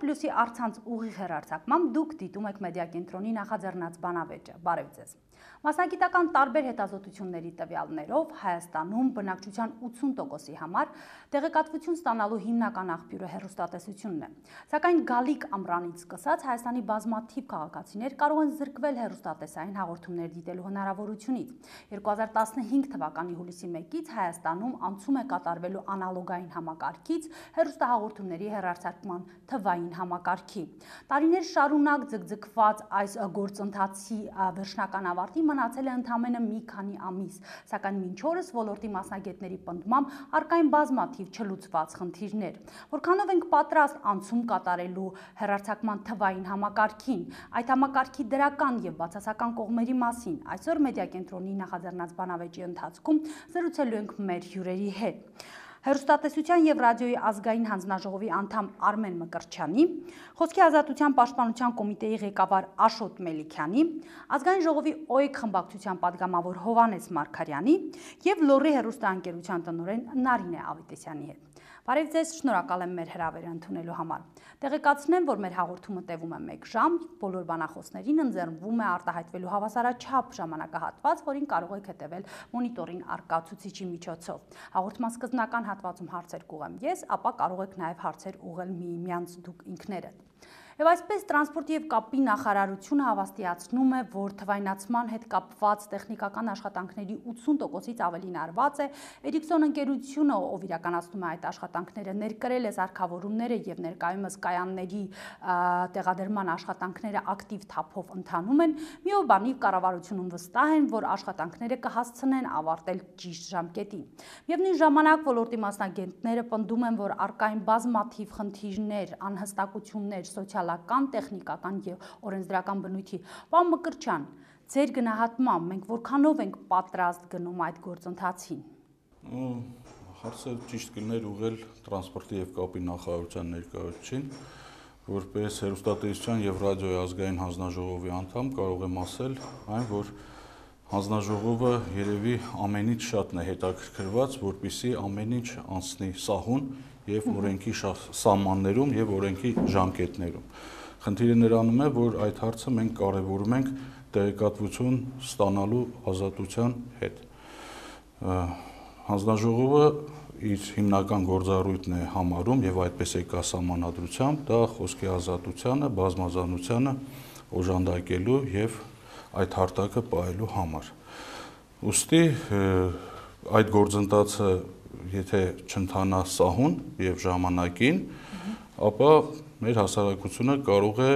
Պլյուսի առցանց ուղիղ հեռարձակմամբ դուք դիտում եք մեդիա կենտրոնի նախաձեռնած բանավեճը։ Բարև ձեզ։ Մասնագիտական տարբեր հետազոտությունների տվյալներով Հայաստանում բնակչության 80%-ի համար տեղեկատվություն ստանալու հիմնական աղբյուրը հեռուստատեսությունն է։ Սակայն գալիք ամռանից սկսած Հայաստանի բազմաթիվ քաղաքացիներ կարող են զրկվել հեռուստատեսային հաղորդումներ դիտելու հնարավորությունից։ 2015 թվականի հուլիսի 1-ից Հայաստանում անցում է կատարվելու անալոգային համակարգից հեռուստահաղորդումների հեռարձակման թվային համակարգի։ Տարիներ շարունակ ձգձգված այս գործընթացի վերջնական ավարտի մնացել է ընդամենը մի քանի ամիս, սակայն մինչ օրս ոլորտի մասնագետների պնդմամբ առկա են բազմաթիվ չլուծված խնդիրներ։ Որքանով ենք պատրաստ անցում կատարելու հեռարձակման թվային համակարգին, այդ համակարգի դրական եւ բացասական կողմերի մասին այսօր մեդիա կենտրոնի նախաձեռնած բանավեճի ընթացքում զրուցելու ենք մեր հյուրերի հետ։ Հեռուստատեսության եւ ռադիոյի ազգային հանձնաժողովի անդամ Արմեն Մկրտչյանի, Խոսքի ազատության պաշտպանության կոմիտեի ղեկավար Աշոտ Մելիքյանի, ազգային ժողովի ՕԵԿ խմբակցության падգամավոր Հովհաննես Մարգարյանի եւ Լոռի հեռուստաընկերության տնօրեն Նարինե Ավետիսյանի հետ։ Բարև ձեզ, շնորհակալ եմ մեր հրավերը ընդունելու համար։ Տեղեկացնեմ, որ մեր հաղորդումը տևում է 1 ժամ, բոլոր բանախոսներին ընձեռվում է արտահայտվելու հավասարաչափ ժամանակահատված, որին կարող եք հետևել մոնիտորին առկա ցուցիչի միջոցով։ Հաղորդման սկզբնական հատվածում հարցեր կուղեմ ես, ապա կարող եք նաև հարցեր ուղղել միմյանց դուք ինքներդ։ Եվ այսպես տրանսպորտի եւ կապի նախարարությունը հավաստիացնում է, որ թվայնացման հետ կապված տեխնիկական աշխատանքների 80%-ից ավելին արված է։ Էրիկսոն ընկերությունը, ով իրականացնում է այդ աշխատանքները, ներկրել է սարքավորումները եւ ներկայումս կայանների տեղադրման աշխատանքները ակտիվ թափով ընթանում են։ Միաբանիվ կառավարությունում վստահ են, որ աշխատանքները կհասցնեն ավարտել ճիշտ ժամկետին։ Միևնույն ժամանակ ոլորտի մասնագետները պնդում են, որ առկա են բազմաթիվ խնդիրներ, անհստակություններ, սոցիալական, տեխնիկական եւ օրենսդրական բնույթի։ Պարոն Մկրտչյան, ձեր գնահատմամբ մենք որքանով ենք պատրաստ գնում այդ գործընթացին։ Հարցը ճիշտ կլիներ ուղղել տրանսպորտի եւ կապի նախարարության ներկայացուցիչին, որպես հեռուստատեսության եւ ռադիոյի ազգային հանձնաժողովի անդամ կարող եմ ասել այն, որ հանձնաժողովը երևի ամենից շատն է հետաքրքրված, որպեսզի ամեն ինչ անցնի սահուն եւ օրենքի սահմաններում եւ օրենքի ժամկետներում։ Խնդիրը նրանում է, որ այդ հարցը մենք կարևորում ենք տեղեկատվություն ստանալու ազատության հետ։ Հանձնաժողովը իր հիմնական գործառույթն է համարում եւ այդպես է կա սահմանադրությամբ, դա խոսքի ազատությանը, բազմազանությանը օժանդակելու եւ այդ հարթակը պահելու համար։ Ուստի այդ գործընթացը եթե չընթանա սահուն եւ ժամանակին, ապա մեր հասարակությունը կարող է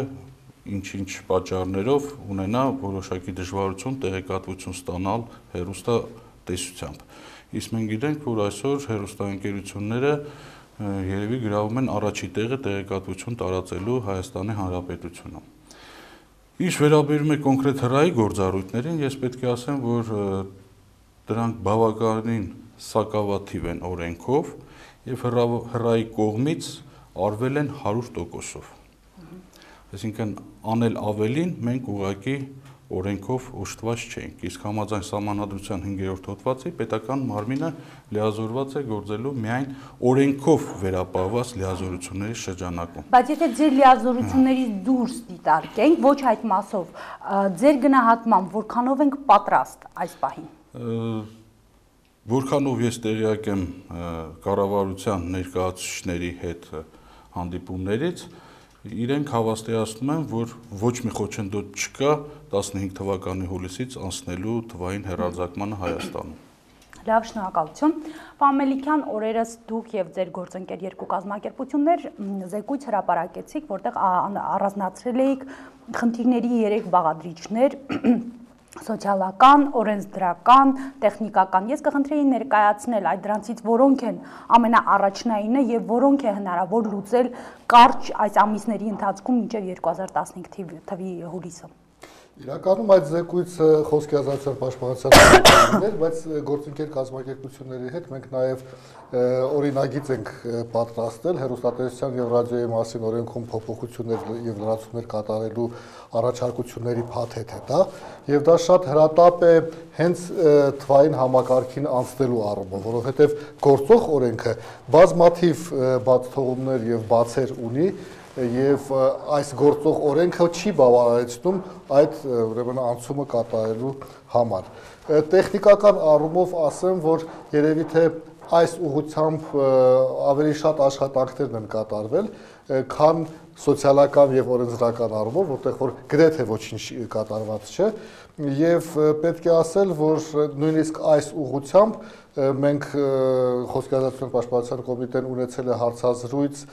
ինչ-ինչ պատճառներով ունենա որոշակի դժվարություն տեղեկատվություն ստանալ հեռուստատեսությամբ։ Իսկ մենք գիտենք, որ այսօր հեռուստաընկերությունները երևի գրավում են առաջի տեղը տեղեկատվություն տարածելու Հայաստանի Հանրապետությունում։ Ինչ վերաբերում է կոնկրետ հրայի գործառույթներին, ես պետք է ասեմ, որ դրանք բավականին սակավաթիվ են օրենքով եւ հրայի կողմից արվել են 100%-ով։ Այսինքն անել ավելին մենք ուղղակի օրենքով օժտված չենք, իսկ համաձայն սահմանադրության 5-րդ հոդվածի պետական մարմինը լիազորված է գործելու միայն օրենքով վերապահված լիազորությունների շրջանակում։ Բայց եթե ձեր լիազորություններից դուրս դիտարկենք, ոչ այդ մասով, ձեր գնահատմամբ որքանով ենք պատրաստ այս պահին։ Որքանով ես տեղյակ եմ կառավարության ներկայացուցիչների հետ հանդիպումներից, իրենք հավաստիացնում են, որ ոչ մի խոչընդոտ չկա 15 թվականի հուլիսից անցնելու թվային հեռարձակմանը Հայաստանում։ Լավ, շնորհակալություն։ Պարոն Մելիքյան, օրերս դուք եւ ձեր գործընկեր երկու կազմակերպություններ զեկույց հրապարակեցիք, որտեղ առանձնացրել էիք խնդիրների 3 բաղադրիչներ՝ սոցիալական, օրենսդրական, տեխնիկական։ Ես կխնդրեի ներկայացնել այդ դրանցից որոնք են ամենաառաջնայինը եւ որոնք է հնարավոր լուծել կարճ այս ամիսների ընթացքում մինչեւ 2015 թվականի հուլիսը։ Իրականում այդ զեկույցը խոսքի ազատության պաշտպանության էր, բայց գործընկեր կազմակերպությունների հետ մենք նաև օրինագիծ ենք պատրաստել հեռուստատեսության եւ ռադիոյի մասին օրենքում փոփոխություններ եւ լրացումներ կատարելու առաջարկությունների փաթեթ է դա, եւ դա շատ հրատապ է հենց թվային համակարգին անցնելու առումով, որովհետեւ գործող օրենքը բազմաթիվ բացթողումներ եւ բացեր ունի եւ այս գործող օրենքը չի բավարարեցնում այդ ուրեմն անցումը կատարելու համար։ Տեխնիկական առումով ասեմ, որ երևի թե այս ուղղությամբ ավելի շատ աշխատանքներ են կատարվել, քան սոցիալական եւ օրենսդրական առումով, որտեղ որ գրեթե ոչինչ կատարված չէ, եւ պետք է ասել, որ նույնիսկ այս ուղղությամբ մենք Խոսքի ազատության պաշտպանության կոմիտեն ունեցել է հարցազրույց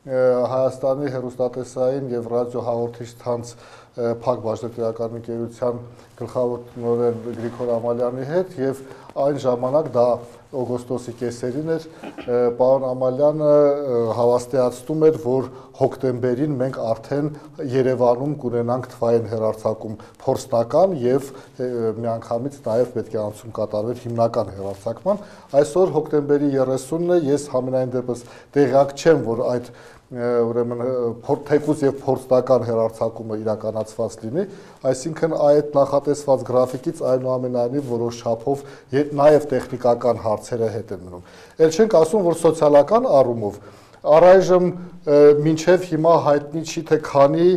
Հայաստանի հեռուստատեսային եւ ռադիոհաղորդիչ ցանց Փակ բաժնետիրական ընկերության գլխավոր տնօրեն Գրիգոր Ամալյանի հետ եւ այն ժամանակ դա օգոստոսի կեսերին էր պարոն Ամալյանը հավաստիացնում էր, որ հոկտեմբերին մենք արդեն Երևանում կունենանք թվային հեռարձակում փորձնական եւ միանգամից նաեւ պետք է անցում կատարվեր հիմնական հեռարձակման։ Այսօր հոկտեմբերի 30-ն է, ես համենայն դեպս տեղյակ չեմ, որ այդ ուրեմն թեկուզ եւ փորձնական հեռարձակումը իրականացված լինի, այսինքն այդ նախատեսված գրաֆիկից այնուամենայնիվ որոշ չափով նաեւ տեխնիկական հարցերը հետ են մնում։ Էլ չենք ասում, որ սոցիալական առումով առայժմ մինչև հիմա հայտնի չի թե քանի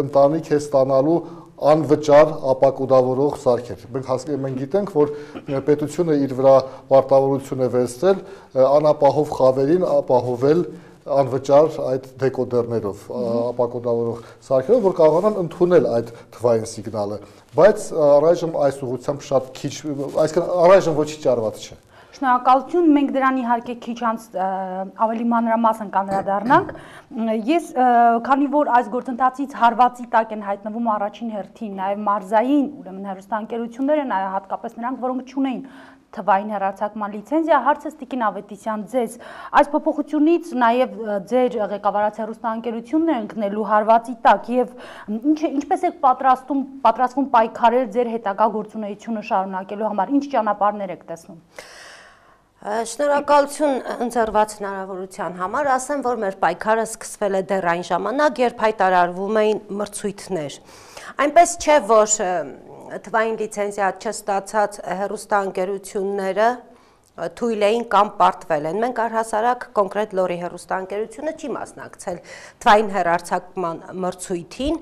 ընտանիք է ստանալու անվճար ապակուդավորող սարքեր։ Մենք գիտենք, որ պետությունը իր վրա պարտավորություն է վերցրել անապահով խավերին ապահովել անվճար այդ դեկոդերներով, ապակոդավորող սարքերով, որ կարողանան ընդունել այդ թվային սիգնալը, բայց առայժմ այս ուղղությամբ շատ քիչ, այսինքն առայժմ ոչինչ արված չէ։ Շնորհակալություն, մենք դրան իհարկե քիչ անց ավելի մանրամասն կանդրադառնանք։ Ես քանի որ այս գործընթացից հարվածի տակ են հայտնվում առաջին հերթին նաև մարզային, ուրեմն հեռուստաընկերությունները, նաև հատկապես նրանք, որոնք չունեին թվային հեռարձակման լիցենզիա, հարցս Տիկին Ավետիսյան ձեզ այս փոփոխությունից նաև ձեր ղեկավարած հեռուստաընկերությունն է ընկնելու հարվածի տակ եւ ինչպես եք պատրաստվում պայքարել ձեր հետագա գործունեությունը շարունակելու համար, ինչ ճանապարհներ եք տեսնում։ Շնորհակալություն ընձեռված հնարավորության համար, ասեմ, որ մեր պայքարը սկսվել է դեռ այն ժամանակ, երբ հայտարարվում էին մրցույթներ։ Այնպես չէ, որ թվային լիցենզիա չստացած հեռուստաընկերությունները թույլ էին կամ պարտվել են։ Մենք առհասարակ կոնկրետ լորի հեռուստաընկերությունը չի մասնակցել թվային հեռարձակման մրցույթին,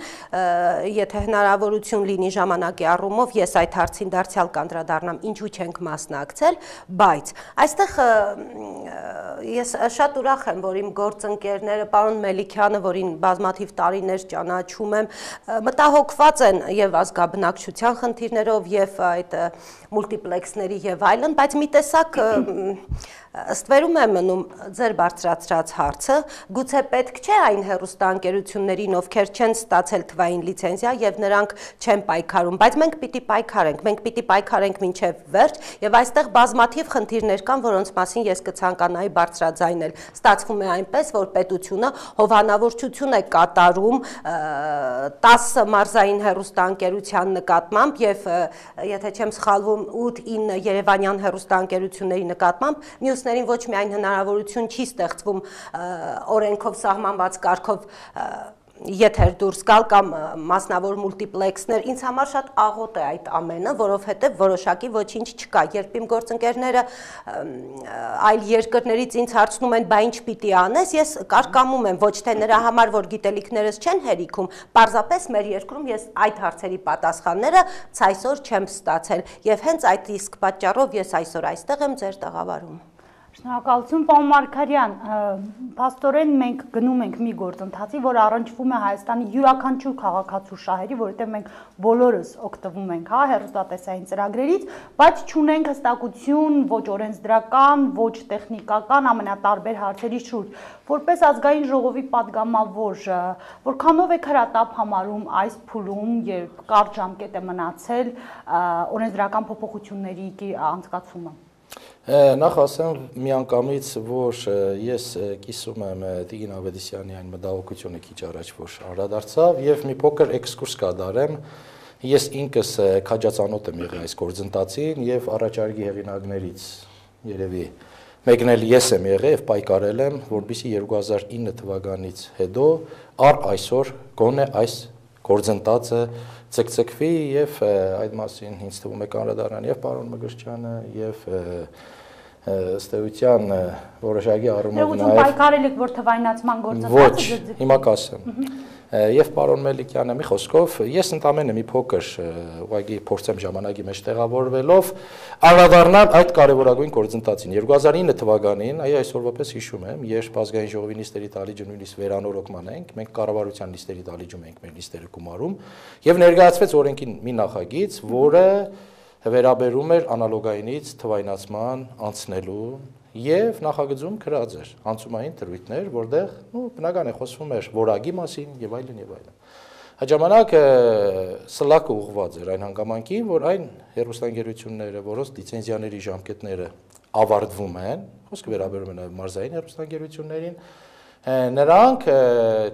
եթե հնարավորություն լինի ժամանակի առումով, ես այդ հարցին դարձյալ կանդրադառնամ, ինչու չենք մասնակցել, բայց այստեղ ես շատ ուրախ եմ, որ իմ գործընկերները, պարոն Մելիքյանը, որին բազմաթիվ տարիներ ճանաչում եմ, մտահոգված են եւ ազգաբնակչության խնդիրներով եւ այդ մուլտիպլեքսների եւ այլն, բայց մի տեսակ ըստ վերում է մնում ձեր բարձրացրած հարցը, գուցե պետք չէ այն հեռուստաընկերություններին, ովքեր չեն ստացել թվային լիցենզիա եւ նրանք չեն պայքարում, բայց մենք պիտի պայքարենք մինչեւ վերջ եւ այստեղ բազմաթիվ խնդիրներ կան, որոնց մասին ես կցանկանայի բարձրաձայնել։ Ստացվում է այնպես, որ պետությունը հովանավորչություն է կատարում 10 մարզային հեռուստաընկերության նկատմամբ եւ եթե չեմ սխալվում 8-9 երևանյան հեռուստաընկերությունների նկատմամբ, մյուսներին ոչ միայն հնարավորություն չի ստեղծվում օրենքով սահմանված կարգով եթեր դուրս գալ կամ մասնավոր մուլտիպլեքսներ, ինձ համար շատ աղոտ է այդ ամենը, որովհետև որոշակի ոչինչ չկա։ Երբ իմ գործընկերները այլ երկրներից ինձ հարցնում են, բա ինչ պիտի անես, ես կարկամում եմ ոչ թե նրա համար, որ գիտելիքներս չեն հերիքում, պարզապես մեր երկրում ես այդ հարցերի պատասխանները ցայսօր չեմ ստացել եւ հենց այդ իսկ պատճառով ես այսօր այստեղ եմ ձեր տաղավարում։ Շնորհակալություն, պարոն Մարգարյան, փաստորեն մենք գնում ենք մի գործընթացի, որ առնչվում է Հայաստանի յուրաքանչյուր քաղաքացու շահերի, որովհետև մենք բոլորս օգտվում ենք, հեռուստատեսային ծրագրերից, բայց չունենք հստակություն ոչ օրենսդրական, ոչ տեխնիկական, ամենատարբեր հարցերի շուրջ։ Որպես ազգային ժողովի падգամավոր, որքանով եք հրատապ համարում այս փուլում, երբ կարճ ժամկետ է մնացել օրենսդրական փոփոխությունների անցկացումը։ Նախ ասեմ միանգամից, որ ես կիսում եմ Տիկին Ավետիսյանի այն մտահոգությունը քիչ առաջ, որ անդրադարձավ եւ մի փոքր էքսկուրս կատարեմ։ Ես ինքս քաջածանոթ եմ եղել այս գործընթացին եւ առաջարկի հեղինակներից երևի մեկն էլ ես եմ եղել եւ պայքարել եմ, որպեսզի 2009 թվականից հետո առ այսօր գոնե այս գործընթացը ցկցկվի եւ այդ մասին ինձ թվում է կանրադառնան եւ պարոն Մգրչյանը եւ ըստ էության որոշակի առումով նաև պայքարել եք, որ թվայնացման գործընթացը ոչ, հիմա կասեմ։ Եվ պարոն Մելիքյանը մի խոսքով, ես ընդամենը մի փոքր ուղղակի փորձեմ ժամանակի մեջ տեղավորվելով անդրադառնալ այդ կարևորագույն գործընթացին։ 2009 թվականին, այսօրվա պես հիշում եմ, երբ ազգային ժողովի նիստերի դալիճը նույնիսկ վերանորոգման ենք, մենք կառավարության նիստերի դալիճում ենք մեր նիստերը գումարում, եւ ներկայացվեց օրենքի մի նախագիծ, որը վերաբերում էր անալոգայինից թվայնացման անցնելու եւ նախագծում գրած էր անցումային դրույթներ, որտեղ բնական է խոսվում էր որակի մասին եւ այլն եւ այլն։ Այդ ժամանակ սլակը ուղղված էր այն հանգամանքին, որ այն հեռուստաընկերությունները, որոնց լիցենզիաների ժամկետները ավարտվում են, խոսքը վերաբերում է նաեւ մարզային հեռուստաընկերություններին, նրանք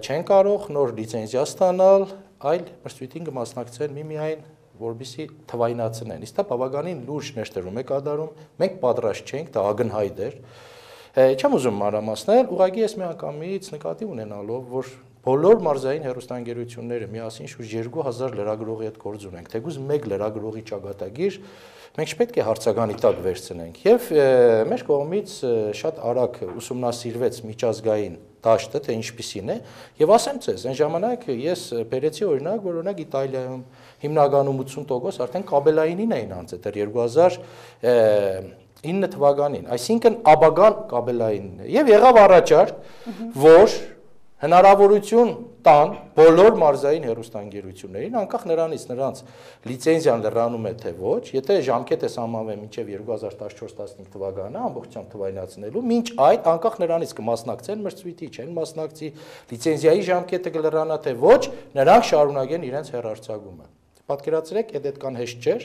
չեն կարող նոր լիցենզիա ստանալ, այլ մրցույթին կմասնակցեն միմիայն որբիսի թվայնացնեն։ Իսկ դա բավականին լուրջ ներդրում է կատարում, մենք պատրաստ չենք, դա ակնհայտ էր։ Չեմ ուզում մանրամասնել, ուղղակի ես միանգամից նկատի ունենալով, որ բոլոր մարզային հեռուստաընկերությունները միասին շուրջ 2000 լրագրողի հետ գործ ունենք, թեկուզ մեկ լրագրողի ճակատագիր մենք չպետք է հարցականի տակ վերցնենք եւ մեր կողմից շատ արագ ուսումնասիրվեց միջազգային դաշտը, թե ինչպիսին է, եւ ասեմ ձեզ, այն ժամանակ ես բերեցի օրինակ, որ օրինակ Իտալիայում հիմնականում 80% արդեն կաբելայինին էին անցել, դեռ 2009 թվականին, այսինքն աբագան կաբելայինն է, եւ եղավ առաջարկ, որ հնարավորություն տան բոլոր մարզային հեռուստաընկերություններին, անկախ նրանից նրանց լիցենզիան լրանում է թե ոչ, եթե ժամկետը սահմանվի մինչև 2014-15 թվականը ամբողջությամբ թվայնացնելու, մինչ այդ անկախ նրանից կմասնակցեն մրցույթի, չեն մասնակցի, լիցենզիայի ժամկետը կլրանա թե ոչ, նրանք շարունակեն իրենց հեռարձակումը։ Պատկերացրեք, այդ կան հեշտ չէր,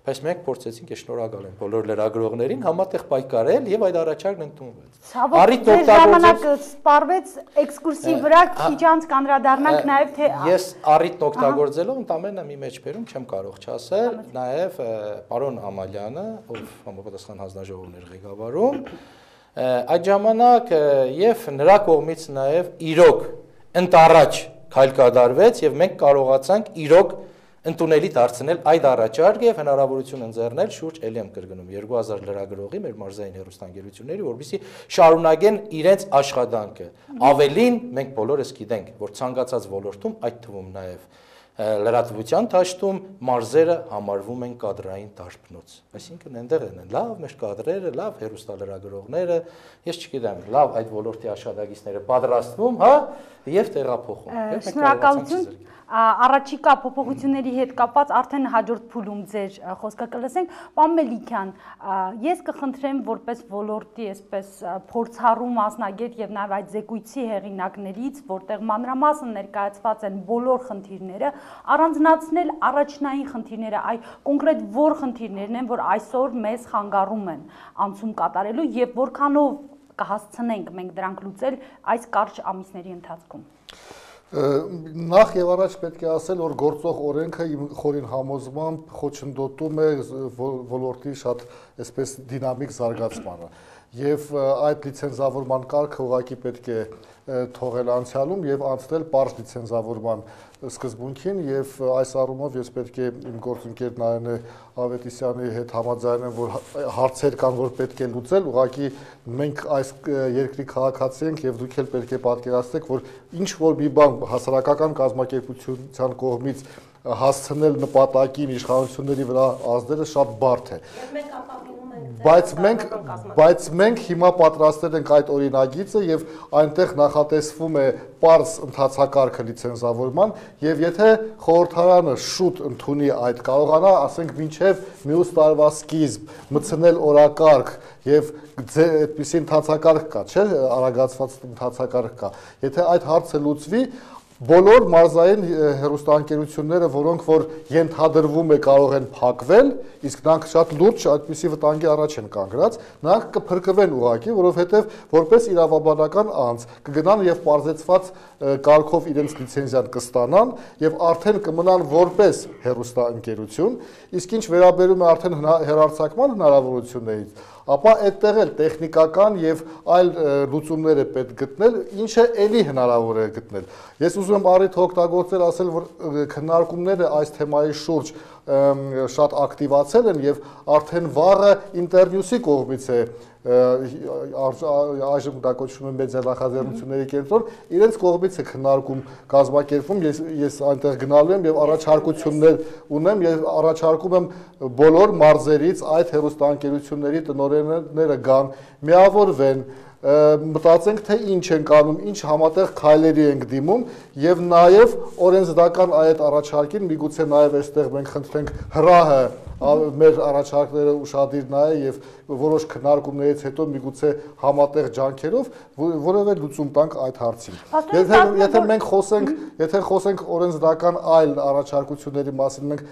բայց մենք փորձեցինք, ես շնորհակալ եմ բոլոր լրագրողներին համատեղ պայքարել եւ այդ առաջարկն ընդունվեց։ Ցավոք, ժամանակը սպառվեց էքսկուրսիի վրա, քիչ անց կանդրադառնանք նաեւ թե ես առիթն օգտագործելով ընդամենը մի մեջբերում չեմ կարող չասել, նաեւ պարոն Ամալյանը, ով համապատասխան հանձնաժողովներ ղեկավարում, այդ ժամանակ եւ նրա կողմից նաեւ իրոք ընտառաջ քայլ կատարվեց եւ մենք կարողացանք իրոք ընդունելի դարձնել այդ առաջարկը եւ հնարավորություն ընձեռնել շուրջ ելի եմ կրկնում 2000 լրագրողի մեր մարզային հեռուստաընկերությունների, որովհետեւ շարունակեն իրենց աշխատանքը։ Ավելին մենք բոլորս գիտենք, որ ցանկացած ոլորտում, այդ թվում նաեւ լրատվության դաշտում մարզերը համարվում են կադրային դարբնոց։ Այսինքն այնտեղ են լավ մեր կադրերը, լավ հեռուստալրագրողները, ես չգիտեմ, լավ այդ ոլորտի աշխատակիցները պատրաստվում, հա, եւ տեղափոխում։ Շնորհակալություն։ Առաջիկա փոփոխությունների հետ կապված արդեն հաջորդ փուլում ձեր խոսքը կլսենք։ Պարոն Մելիքյան, ես կխնդրեմ որպես ոլորտի այսպես փորձառու մասնագետ եւ նաեւ այդ զեկույցի հեղինակներից, որտեղ մանրամասն ներկայացված են բոլոր խնդիրները, առանձնացնել առաջնային խնդիրները, այ կոնկրետ որ խնդիրներն են, որ այսօր մեզ խանգարում են անցում կատարելու եւ որքանով կհասցնենք մենք դրանք լուծել այս կարճ ամիսների ընթացքում։ Նախ եւ առաջ պետք է ասել, որ գործող օրենքը իմ խորին համոզմամբ խոչընդոտում է ոլորտի շատ այսպես դինամիկ զարգացմանը եւ այդ լիցենզավորման կարգը ուղղակի պետք է թողել անցյալում եւ անցնել պարզ լիցենզավորման սկզբունքին եւ այս առումով ես պետք է իմ գործընկեր Նարինե Ավետիսյանի հետ համաձայնեմ, որ հարցեր կան, որ պետք է լուծել, ուղղակի մենք այս երկրի քաղաքացի ենք եւ դուք էլ պետք է պատկերացնեք, որ ինչ որ մի բան հասարակական կազմակերպության կողմից հասցնել նպատակին իշխանությունների վրա ազդելը շատ բարդ է։ Բայց մենք հիմա պատրաստել ենք այդ օրինագիծը եւ այնտեղ նախատեսվում է պարզ ընթացակարգը լիցենզավորման եւ եթե խորհրդարանը շուտ ընդունի այդ կարողանա, ասենք մինչեւ մյուս տարվա սկիզբ մտցնել օրակարգ եւ այդպիսի ընթացակարգ կա, չէ՞, արագացված ընթացակարգ կա։ Եթե այդ հարցը լուծվի, բոլոր մարզային հեռուստաընկերությունները, որոնք որ ենթադրվում է կարող են փակվել, իսկ նրանք շատ լուրջ այդպիսի վտանգի առաջ են կանգնած, նրանք կփրկվեն ուղղակի, որովհետև որպես իրավաբանական անձ կգնան եւ պարզեցված կարգով իրենց լիցենզիան կստանան եւ արդեն կմնան որպես հեռուստաընկերություն, իսկ ինչ վերաբերում է արդեն հեռարձակման հնարավորություններից, ապա այդտեղ էլ տեխնիկական եւ այլ լուծումներ է պետք գտնել, ինչը ելի հնարավոր է գտնել։ Ես ուզում եմ առիթ օգտագործել ասել, որ քննարկումները այս թեմայի շուրջ շատ ակտիվացել են եւ արդեն վաղը ինտերվյուսի կողմից է այժմ դա կոչվում է մեդիա նախաձեռնությունների կենտրոն, իրենց կողմից է քննարկում կազմակերպվում, ես այնտեղ գնալու եմ եւ առաջարկություններ ունեմ եւ առաջարկում եմ բոլոր մարզերից այդ հեռուստաընկերությունների տնօրենները գան, միավորվեն, մտածենք թե ինչ ենք անում, ինչ համատեղ քայլերի ենք դիմում եւ նաեւ օրենսդրական այդ առաջարկին միգուցե նաեւ այստեղ մենք խնդրենք հրահը մեր առաջարկները ուշադիր նայե եւ որոշ քննարկումներից հետո միգուցե համատեղ ջանքերով որևէ լուծում տանք այդ հարցին։ Եթե մենք խոսենք օրենսդրական այլ առաջարկությունների մասին, մենք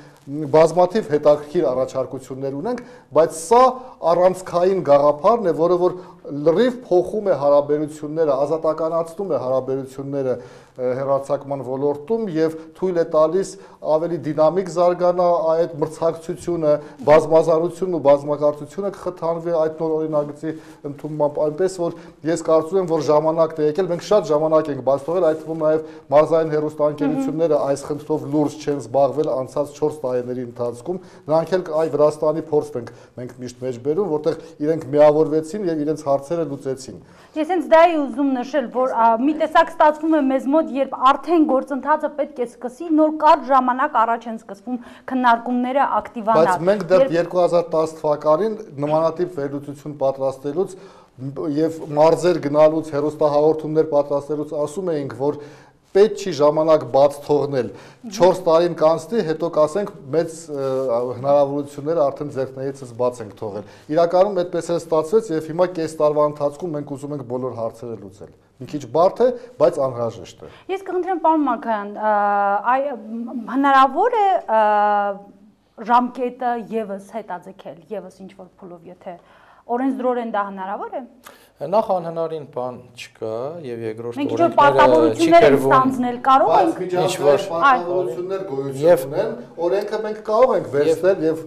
բազմաթիվ հետաքրքիր առաջարկություններ ունենք, բայց սա առանցքային գաղափարն է, որը որ լրիվ փոխում է հարաբերությունները, ազատականացնում է հարաբերությունները հեռարձակման ոլորտում եւ թույլ է տալիս ավելի դինամիկ զարգանա այդ մրցակցությունը, բազմազանությունն ու բազմակարծությունը կխթանվի այդ նոր օրինագծի ընդունմամբ, այնպես որ ես կարծում եմ, որ ժամանակն է եկել, մենք շատ ժամանակ ենք բաց թողել, այդ թվում նաեւ մարզային հեռուստաընկերությունները այս խնդրով լուրջ չեն զբաղվել անցած 4 տարիների ընթացքում, նրանք էլ այ Վրաստանի փորձն ենք մենք միշտ մեջ բերում, որտեղ իրենք միավորվեցին եւ իրենց հարցերը լուծեցին։ Ես հենց դա էի ուզում նշել, որ մի տեսակ ստացվում է մեզ մոտ, երբ արդեն գործընթացը պետք է սկսի, նոր կարճ ժամանակ առաջ են սկսվում քննարկումները ակտիվանալ։ Բայց մենք դեռ 2010 թվականին նմանատիպ վերլուծություն պատրաստելուց եւ մարզեր գնալուց, հեռուստահաղորդումներ պատրաստելուց ասում էինք, որ պետք չի ժամանակ բաց թողնել 4 տարին կանցնի, հետո կասենք մեծ հնարավորությունները արդեն ձեռքներիցս բաց ենք թողել։ Իրականում այդպես էլ ստացվեց եւ հիմա կես տարվա ընթացքում մենք ուզում ենք բոլոր հարցերը լուծել։ Մի քիչ բարդ է, բայց անհրաժեշտ է։ Ես կխնդրեմ պարոն Մարգարյան, հնարավոր է ժամկետը եւս հետաձգել, եւս ինչ որ փուլով, եթե օրենսդրորեն դա հնարավոր է։ Նախ անհնարին բան չկա եւ երկրորդ մենք ինչ-որ պարտավորություններ ենք ստանձնել կարող ենք ինչ-որ պարտավորություններ գոյություն ունեն, օրենքը մենք կարող ենք վերցնել եւ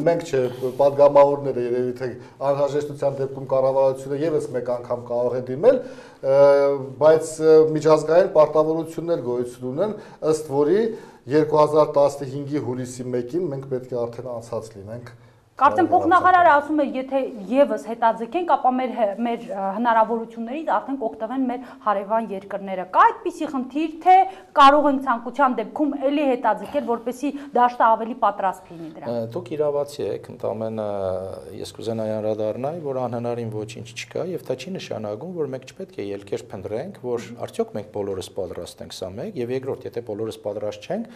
մենք չէ, падգամավորները երևի թե անհրաժեշտության դեպքում կառավարությունը եւս մեկ անգամ կարող է դիմել, բայց միջազգային պարտավորություններ գոյություն ունեն, ըստ որի 2015-ի հուլիսի 1-ին մենք պետք է արդեն անցած լինենք։ Կարծեմ փոխնախարարը ասում է, եթե եւս հետաձգենք, ապա մեր հնարավորություններից արդեն կօգտվեն մեր հարևան երկրները։ Կա այդպիսի խնդիր, թե կարող ենք ցանկության դեպքում էլի հետաձգել, որպեսզի դաշտը ավելի պատրաստ լինի դրան։ Դուք իրավացի եք, ընդամենը ես կուզենայի անդրադառնալ, որ անհնարին ոչինչ չկա եւ դա չի նշանակում, որ մենք չպետք է ելքեր փնտրենք, որ արդյոք մենք բոլորս պատրաստ ենք, սա մեկ, եւ երկրորդ, եթե բոլորս պատրաստ չենք,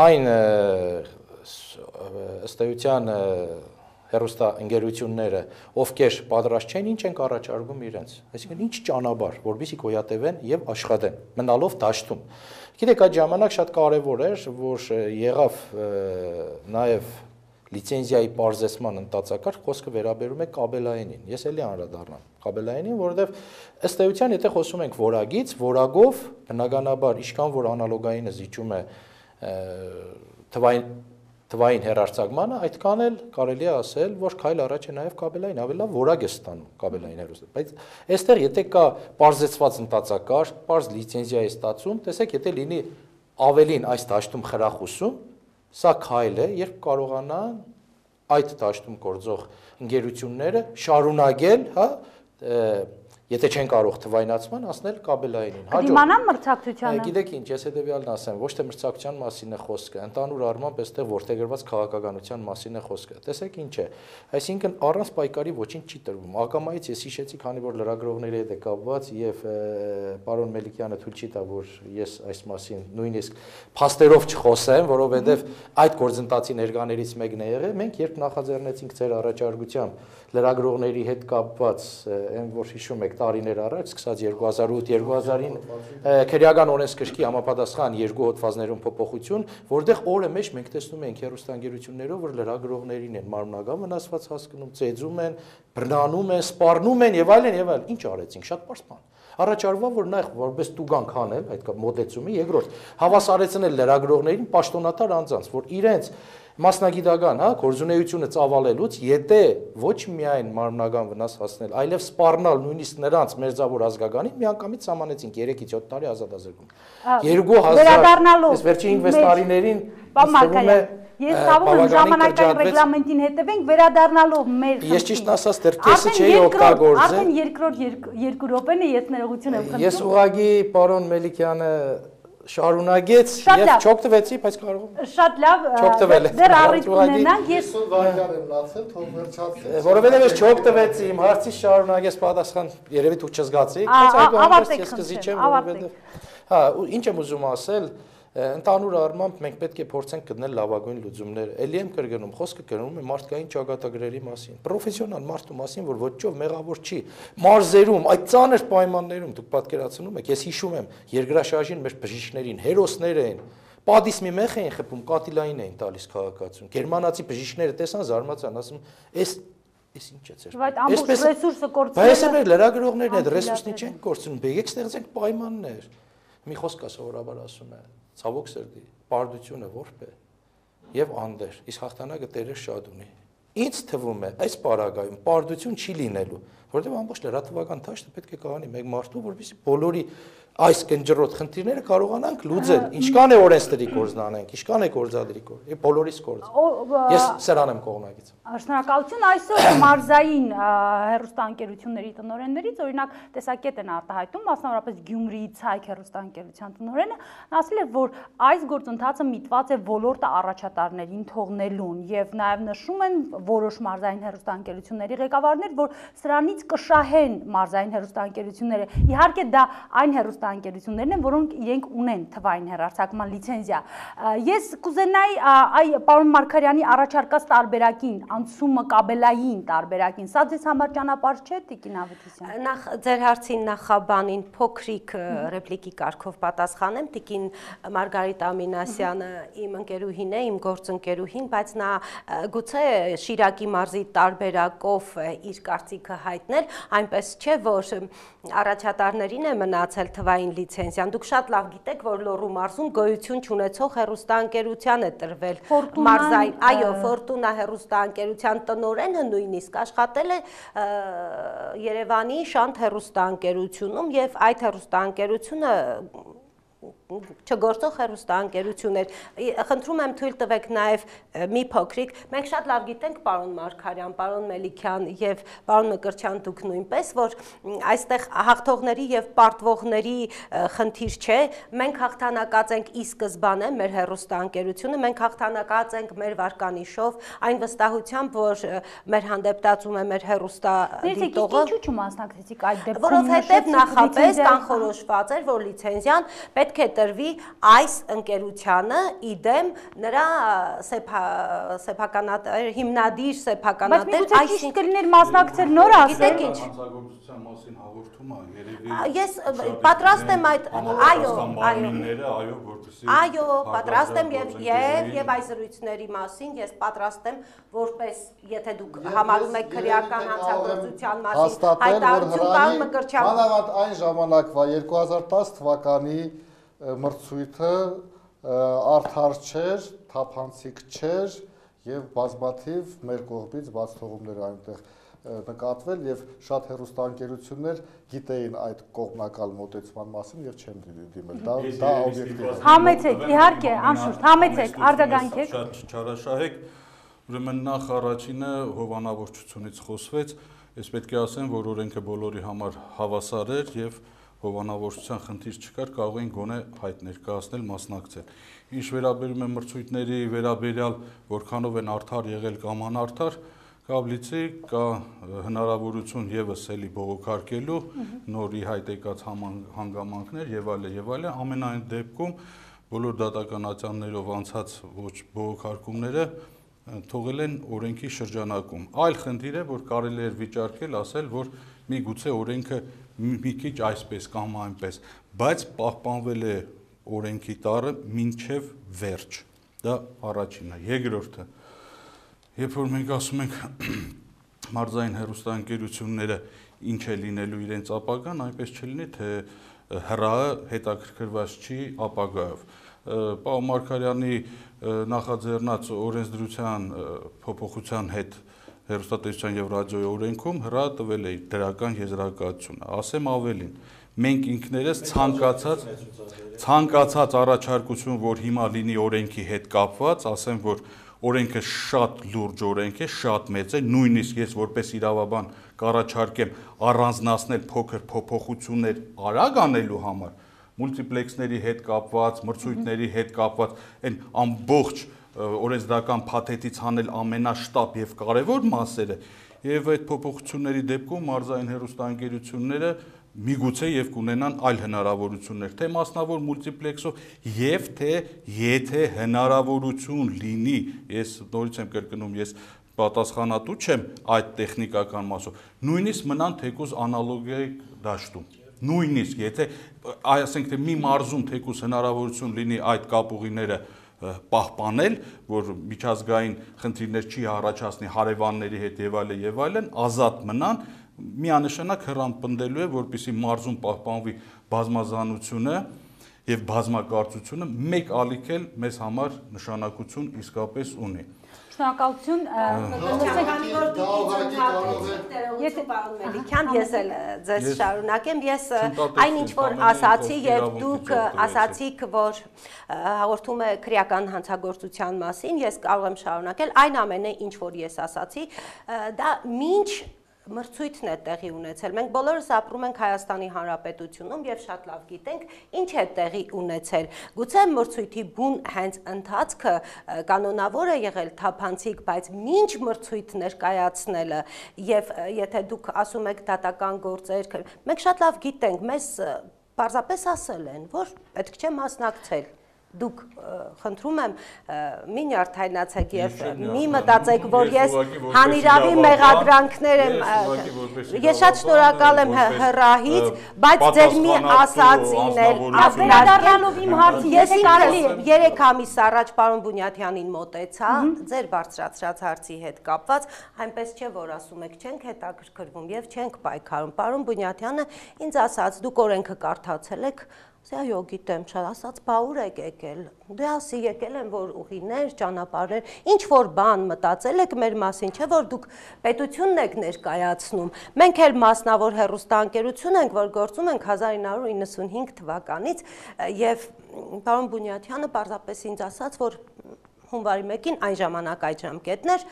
այն ըստ էության հեռուստաընկերությունները, ովքեր պատրաստ չեն, ինչ ենք առաջարկում իրենց։ Այսինքն ինչ ճանապարհ, որպեսզի գոյատևեն եւ աշխատեն, մնալով դաշտում։ Գիտեք, այդ ժամանակ շատ կարեւոր էր, որ եղավ նաեւ լիցենզիայի պարզեցման ընթացակարգ, խոսքը վերաբերում է կաբելայինին։ Ես էլի անդրադառնամ կաբելայինին, որովհետեւ ըստ էության, եթե խոսում ենք որագից, որագով բնականաբար ինչքան որ անալոգայինը զիջում է թվային հեռարձակմանը, այդքան էլ կարելի է ասել, որ քայլ առաջ է նաև կաբելային, ավելի լավ որակ է ստանում կաբելային հեռուստը։ Բայց այստեղ եթե կա պարզեցված ընթացակարգ, պարզ լիցենզիա է ստացում, տեսեք, եթե լինի ավելին այս դաշտում խրախուսում, սա քայլ է, երբ կարողանան այդ դաշտում գործող ընկերությունները շարունակել, հա, եթե չեն կարող թվայնացման, ասնել կաբելայինին։ Դիմանան մրցակցությանը։ Գիտեք ինչ, ես հետեւյալն ասեմ, ոչ թե մրցակցության մասին է խոսքը, ընդհանուր առմամբ այստեղ որտեղգրված քաղաքականության մասին է խոսքը։ Տեսեք ինչ է, այսինքն առանց պայքարի ոչինչ չի տրվում։ Ակամայից ես հիշեցի, քանի որ լրագրողների հետ է կապված եւ պարոն Մելիքյանը թույլ չի տա, որ ես այս մասին նույնիսկ փաստերով չխոսեմ, որովհետեւ այդ գործընթացի ներկաներից մեկն է եղել։ Մենք երբ նախաձեռնեցինք ձեր առաջարկությամբ լրագրողների հետ կապված, այն որ հիշում եք տարիներ առաջ, սկսած 2008-2009 քրեական օրենսգրքի համապատասխան 2 հոդվածներում փոփոխություն, որտեղ օրը մեջ մենք տեսնում ենք հեռուստաընկերություններով, որ լրագրողներին են մարմնական վնասված հասկանում, ծեծում են, բռնանում են, սպառնում են եւ այլն եւ այլն։ Ինչ արեցինք, շատ պարզ բան։ Առաջարվա, որ նախ որպես տուգանք անել այդ մոտեցումի, երկրորդ հավասարեցնել լրագրողներին պաշտոնատար անձանց, որ իրենց մասնագիտական, հա, գործունեությունը ծավալելուց, եթե ոչ միայն մարմնական վնաս հասնել, այլև սպառնալ նույնիսկ նրանց մերձավոր ազգականին, միանգամից սահմանեցինք 3-ից 7 տարի ազատազրկում։ 2000, այս վերջին 5-6 տարիներին Մարգարյան, ես ցավում եմ ժամանակային ռեգլամենտին հետևենք, վերադառնալով մեր Ես ճիշտ ասած դեռ կեսը չէի օգտագործել։ Արդեն երկրորդ 2 րոպեն է, ես ներողություն եմ խնդրում։ Ես ուղղակի պարոն Մելիքյանը շարունակեց եւ չօգտվեցի, բայց կարող եմ։ Շատ լավ, դեռ առիթ ունենանք, ես վայրկյան եմ լացել, թող վերջացնի։ Որովհետեւ ես չօգտվեցի, իմ հարցից շարունակես պատասխան, երևի դուք չզգացիք, բայց այդուհանդերձ ես կզիջեմ, որովհետեւ հա, ինչ եմ ուզում ասել, ընդհանուր առմամբ մենք պետք է փորձենք գտնել լավագույն լուծումներ։ Էլի եմ կրկնում, խոսքը գնում է մարդկային ճակատագրերի մասին, պրոֆեսիոնալ մարդու մասին, որ ոչով մեղավոր չի։ Մարզերում, այդ ծանր պայմաններում դուք պատկերացնում եք, ես հիշում եմ, երկրաշարժին մեր բժիշկներին, հերոսներ էին, պատիս մի մեղ էին խփում, կատիլային էին տալիս քաղաքացուն։ Գերմանացի բժիշկները տեսան, զարմացան, ասում, Էս ինչ է ձեր։ Բայց ամբողջ ռեսուրսը կորցրել։ Բայց մեր լրագրողներն այդ ռեսուրսն չեն կորցնում, եկեք ստեղծենք պայմաններ։ Մի խոսք է սովորաբար ասում է, ցավոք սրտի, պարտությունը որբ է եւ անդեր, իսկ հաղթանակը Տերը շատ ունի։ Ինձ թվում է, այս պարագայում պարտություն չի լինելու, որովհետեւ ամբողջ լրատվական դաշտը պետք է կհանի մեկ մարդու, որովհետեւ բոլորի այս կնճռոտ խնդիրները կարողանանք լուծել։ Ինչքան է օրենսդրի կորձն անենք, ինչքան է գործադրի կորձ, եւ բոլորիս կորձ։ Ես սրան եմ կողմնակից։ Շնորհակալություն, այսօր մարզային հեռուստաընկերությունների տնօրեններից օրինակ տեսակետ են արտահայտում, մասնավորապես Գյումրիի Ցայք հեռուստաընկերության տնօրենը, ասել է, որ այս գործընթացը միտված է ոլորտը առաջատարներին թողնելուն եւ նաեւ նշում են որոշ մարզային հեռուստաընկերությունների ղեկավարներ, որ սրանից կշահեն մարզային հեռուստաընկերությունները։ Իհարկե դա այն հեռուստաընկերություններն են, որոնք իրենք ունեն թվային հեռարձակման լիցենզիա։ Ես կուզենայի այ պարոն Մարգարյանի առաջարկած տարբերակին, անցումը կաբելային տարբերակին, սա ձեզ համար ճանապարհ չէ, Տիկին Ավետիսյան։ Նախ ձեր հարցին նախաբանին փոքրիկ ռեպլիկի կարգով պատասխանեմ, Տիկին Մարգարիտ Ամինասյանը իմ ընկերուհին է, իմ գործընկերուհին, բայց նա գուցե Շիրակի մարզի տարբերակով իր կարծիքը հայտնել, այնպես չէ, որ առաջատարներին է մնացել թվային լիցենզիան։ Դուք շատ լավ գիտեք, որ Լոռու մարզում գոյություն չունեցող հեռուստաընկերության է տրվել մարզային, այո, Ֆորտունա հեռուստաընկերության տնօրենը նույնիսկ աշխատել է Երևանի Շանթ հեռուստաընկերությունում եւ այդ հեռուստաընկերությունը չգործող հեռուստաընկերություններ։ Խնդրում եմ թույլ տվեք նաև մի փոքրիկ, մենք շատ լավ գիտենք պարոն Մարգարյան, պարոն Մելիքյան եւ պարոն Մկրտչյան դուք նույնպես, որ այստեղ հաղթողների եւ պարտվողների խնդիր չէ, մենք հաղթանակած ենք ի սկզբանե մեր հեռուստաընկերությունը, մենք հաղթանակած ենք մեր վարկանիշով, այն վստահությամբ, որ մեր հանդեպտացում է մեր հեռուստադիտողը։ Ինչու չմասնակցեցիք այդ դեպքում։ Որովհետեւ նախապես կանխորոշված էր, որ լիցենզիան պետք է տրվի այս ընկերությանը իդեմ նրա հիմնադիր սեփականատեր, այսինքն կլիներ մասնակցել նոր ասել։ Գիտեք ինչ։ Հանցագործության մասին հաղորդումը երևի Ես պատրաստ եմ այդ, այո, այո, պատրաստ եմ եւ այս զրույցների մասին ես պատրաստ եմ որպես եթե դուք համարում եք քրեական հանցագործության մասին հայտարարություն տալ Մկրտչյան։ Մանավանդ այն ժամանակվա 2010 թվականի մրցույթը արդար չէր, թափանցիկ չէր եւ բազմաթիվ մեր կողմից բաց թողումներ այնտեղ նկատվել եւ շատ հեռուստաընկերություններ գիտեին այդ կողմնակալ մոտեցման մասին եւ չեն դիմել։ Դա օբյեկտիվ է։ Համեցեք, իհարկե, անշուշտ, համեցեք, արձագանքեք։ Շատ չարաշահեք, ուրեմն նախ առաջինը հովանավորչությունից խոսվեց, ես պետք է ասեմ, որ օրենքը բոլորի համար հավասար էր եւ հովանավորչության խնդիր չկար, կարող էին գոնե հայտ ներկայացնել, մասնակցել։ Ինչ վերաբերում է մրցույթների վերաբերյալ, որքանով են արդար եղել կամ անարդար, կա կա հնարավորություն եւս էլի բողոքարկելու, նորի հայտ եկած հանգամանքներ եւ այլն, ամենայն դեպքում բոլոր դատական ատյաններով անցած ոչ բողոքարկումները թողել են օրենքի շրջանակում։ Այլ խնդիր է, որ կարելի է վիճարկել, ասել, որ միգուցե օրենքը մի քիչ այսպես կամ այնպես, բայց պահպանվել է օրենքի տառը մինչև վերջ։ Դա առաջինն է։ Երկրորդը, երբ որ մենք ասում ենք մարզային հեռուստաընկերությունները ինչ է լինելու իրենց ապագան, այնպես չլինի, թե հրահը հետաքրքրված չի ապագայով։ պարոն Մարգարյանի նախաձեռնած օրենսդրության փոփոխության հետ հեռուստատեսության եւ ռադիոյի օրենքում հրատվել է դրական եզրակացությունը։ Ասեմ ավելին, մենք ինքներս ցանկացած առաջարկություն, որ հիմա լինի օրենքի հետ կապված, ասեմ, որ օրենքը շատ լուրջ օրենք է, շատ մեծ է, նույնիսկ ես որպես իրավաբան կառաջարկեմ առանձնացնել փոքր փոփոխություններ արագ անելու համար, մուլտիպլեքսների հետ կապված, մրցույթների հետ կապված, այն ամբողջ օրենսդրական փաթեթից հանել ամենաշտապ եւ կարեւոր մասերը, եւ այդ փոփոխությունների դեպքում մարզային հեռուստաընկերությունները միգուցե եւ կունենան այլ հնարավորություններ, թե մասնավոր մուլտիպլեքսով եւ թե եթե հնարավորություն լինի, ես նորից եմ կրկնում, ես պատասխանատու չեմ այդ տեխնիկական մասով, նույնիսկ մնան թեկուզ անալոգիայի դաշտում, նույնիսկ եթե ասենք թե մի մարզում թեկուզ հնարավորություն լինի այդ կապուղիները պահպանել, որ միջազգային խնդիրներ չի առաջացնի հարևանների հետ եւ այլն, ազատ մնան, միանշանակ հրամփնդելու է, որպեսզի մարզում պահպանվի բազմազանությունը եւ բազմակարծությունը, մեկ ալիք էլ մեզ համար նշանակություն իսկապես ունի։ Շնորհակալություն։ Ես էլ ձեզ շարունակեմ, ես այն ինչ որ ասացի եւ դուք ասացիք, որ հաղորդում է քրեական հանցագործության մասին, ես կարող եմ շարունակել այն ամենը, ինչ որ ես ասացի, դա ինչ մրցույթն է տեղի ունեցել։ Մենք բոլորս ապրում ենք Հայաստանի Հանրապետությունում եւ շատ լավ գիտենք ինչ է տեղի ունեցել։ Գուցե մրցույթի բուն հենց ընթացքը կանոնավոր է եղել թափանցիկ, բայց ինչ մրցույթ ներկայացնելը եւ եթե դուք ասում եք դատական գործեր, մենք շատ լավ գիտենք, մեզ պարզապես ասել են, որ պետք չէ մասնակցել։ Դուք խնդրում եմ մի նյարդայնացեք եւ մի մտածեք, որ ես հանիրավի մեղադրանքներ եմ, ես շատ շնորհակալ եմ հրահից, բայց ձեր մի ասածին էլ Վերադառնալով իմ հարցին, եթե կարելի է 3 ամիս առաջ պարոն Բունյաթյանին մոտեցա, ձեր բարձրացրած հարցի հետ կապված, այնպես չէ, որ ասում եք չենք հետաքրքրվում եւ չենք պայքարում։ Պարոն Բունյաթյանը ինձ ասաց, դուք օրենքը կարդացել եք, Այո, գիտեմ, շատ ասաց, բա ուր եք եկել։ Դե ասի եկել եմ, որ ուղիներ, ճանապարհներ, ինչ որ բան մտածել եք մեր մասին, չէ՞ որ դուք պետությունն եք ներկայացնում։ Մենք էլ մասնավոր հեռուստաընկերություն ենք, որ գործում ենք 1995 թվականից եւ պարոն Բունյաթյանը պարզապես ինձ ասաց, որ հունվարի 1-ին այն ժամանակ այդ ժամկետներ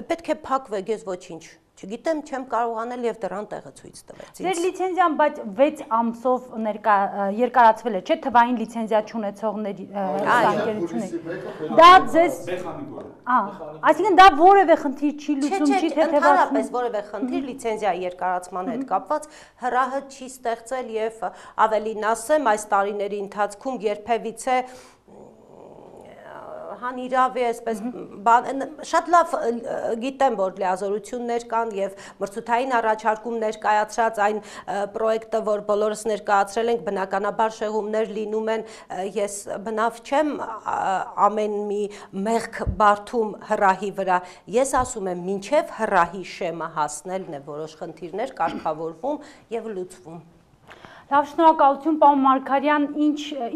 պետք է փակվեք, ես ոչինչ չգիտեմ, չեմ կարողանել եւ դրան տեղը ցույց տվեց։ Ձեր լիցենզիան բայց 6 ամսով երկարացվել է, չէ՞, թվային լիցենզիա չունեցողների անկերությունների։ Դա ձեզ այսինքն դա որևէ խնդիր չի լուծում, չի թեթևացնում։ Ընդհանրապես որևէ խնդիր լիցենզիայի երկարացման հետ կապված հրահը չի ստեղծել եւ ավելին ասեմ, այս տարիների ընթացքում երբևիցե հանիրավ է, այսպես շատ լավ գիտեմ, որ լիազորություններ կան եւ մրցութային առաջարկում ներկայացրած այն պրոյեկտը, որ բոլորս ներկայացրել ենք, բնականաբար շեղումներ լինում են, ես բնավ չեմ ամեն մի մեղք բարդում հրահի վրա, ես ասում եմ, մինչեւ հրահի շեմը հասնելն է որոշ խնդիրներ կարգավորվում եւ լուծվում։ Լավ, շնորհակալություն, պարոն Մարգարյան,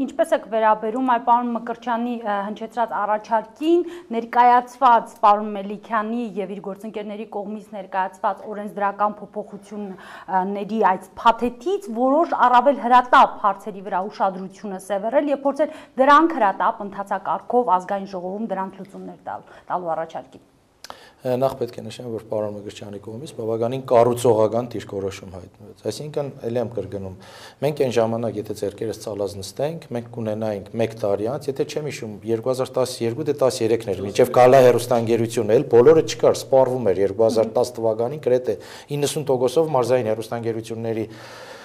ինչպես եք վերաբերում այ պարոն Մկրտչյանի հնչեցրած առաջարկին, ներկայացված պարոն Մելիքյանի եւ իր գործընկերների կողմից ներկայացված օրենսդրական փոփոխությունների այդ փաթեթից որոշ առավել հրատապ հարցերի վրա ուշադրությունը սևեռել եւ փորձել դրանք հրատապ ընթացակարգով ազգային ժողովում դրանք լուծումներ տալու առաջարկին։ Նախ պետք է նշեմ, որ պարոն Մկրտչյանի կողմից բավականին կառուցողական դիրքորոշում հայտնվեց։ Այսինքն, ելի եմ կրկնում, մենք այն ժամանակ, եթե ձեռքերս ցալած նստենք, մենք կունենայինք 1 տարի անց, եթե չեմ հիշում, 2012 դե 13-ն էր, մինչև Գալա հեռուստաընկերությունը, էլ բոլորը չկար, սպառվում էր 2010 թվականին գրեթե 90%-ով մարզային հեռուստաընկերությունների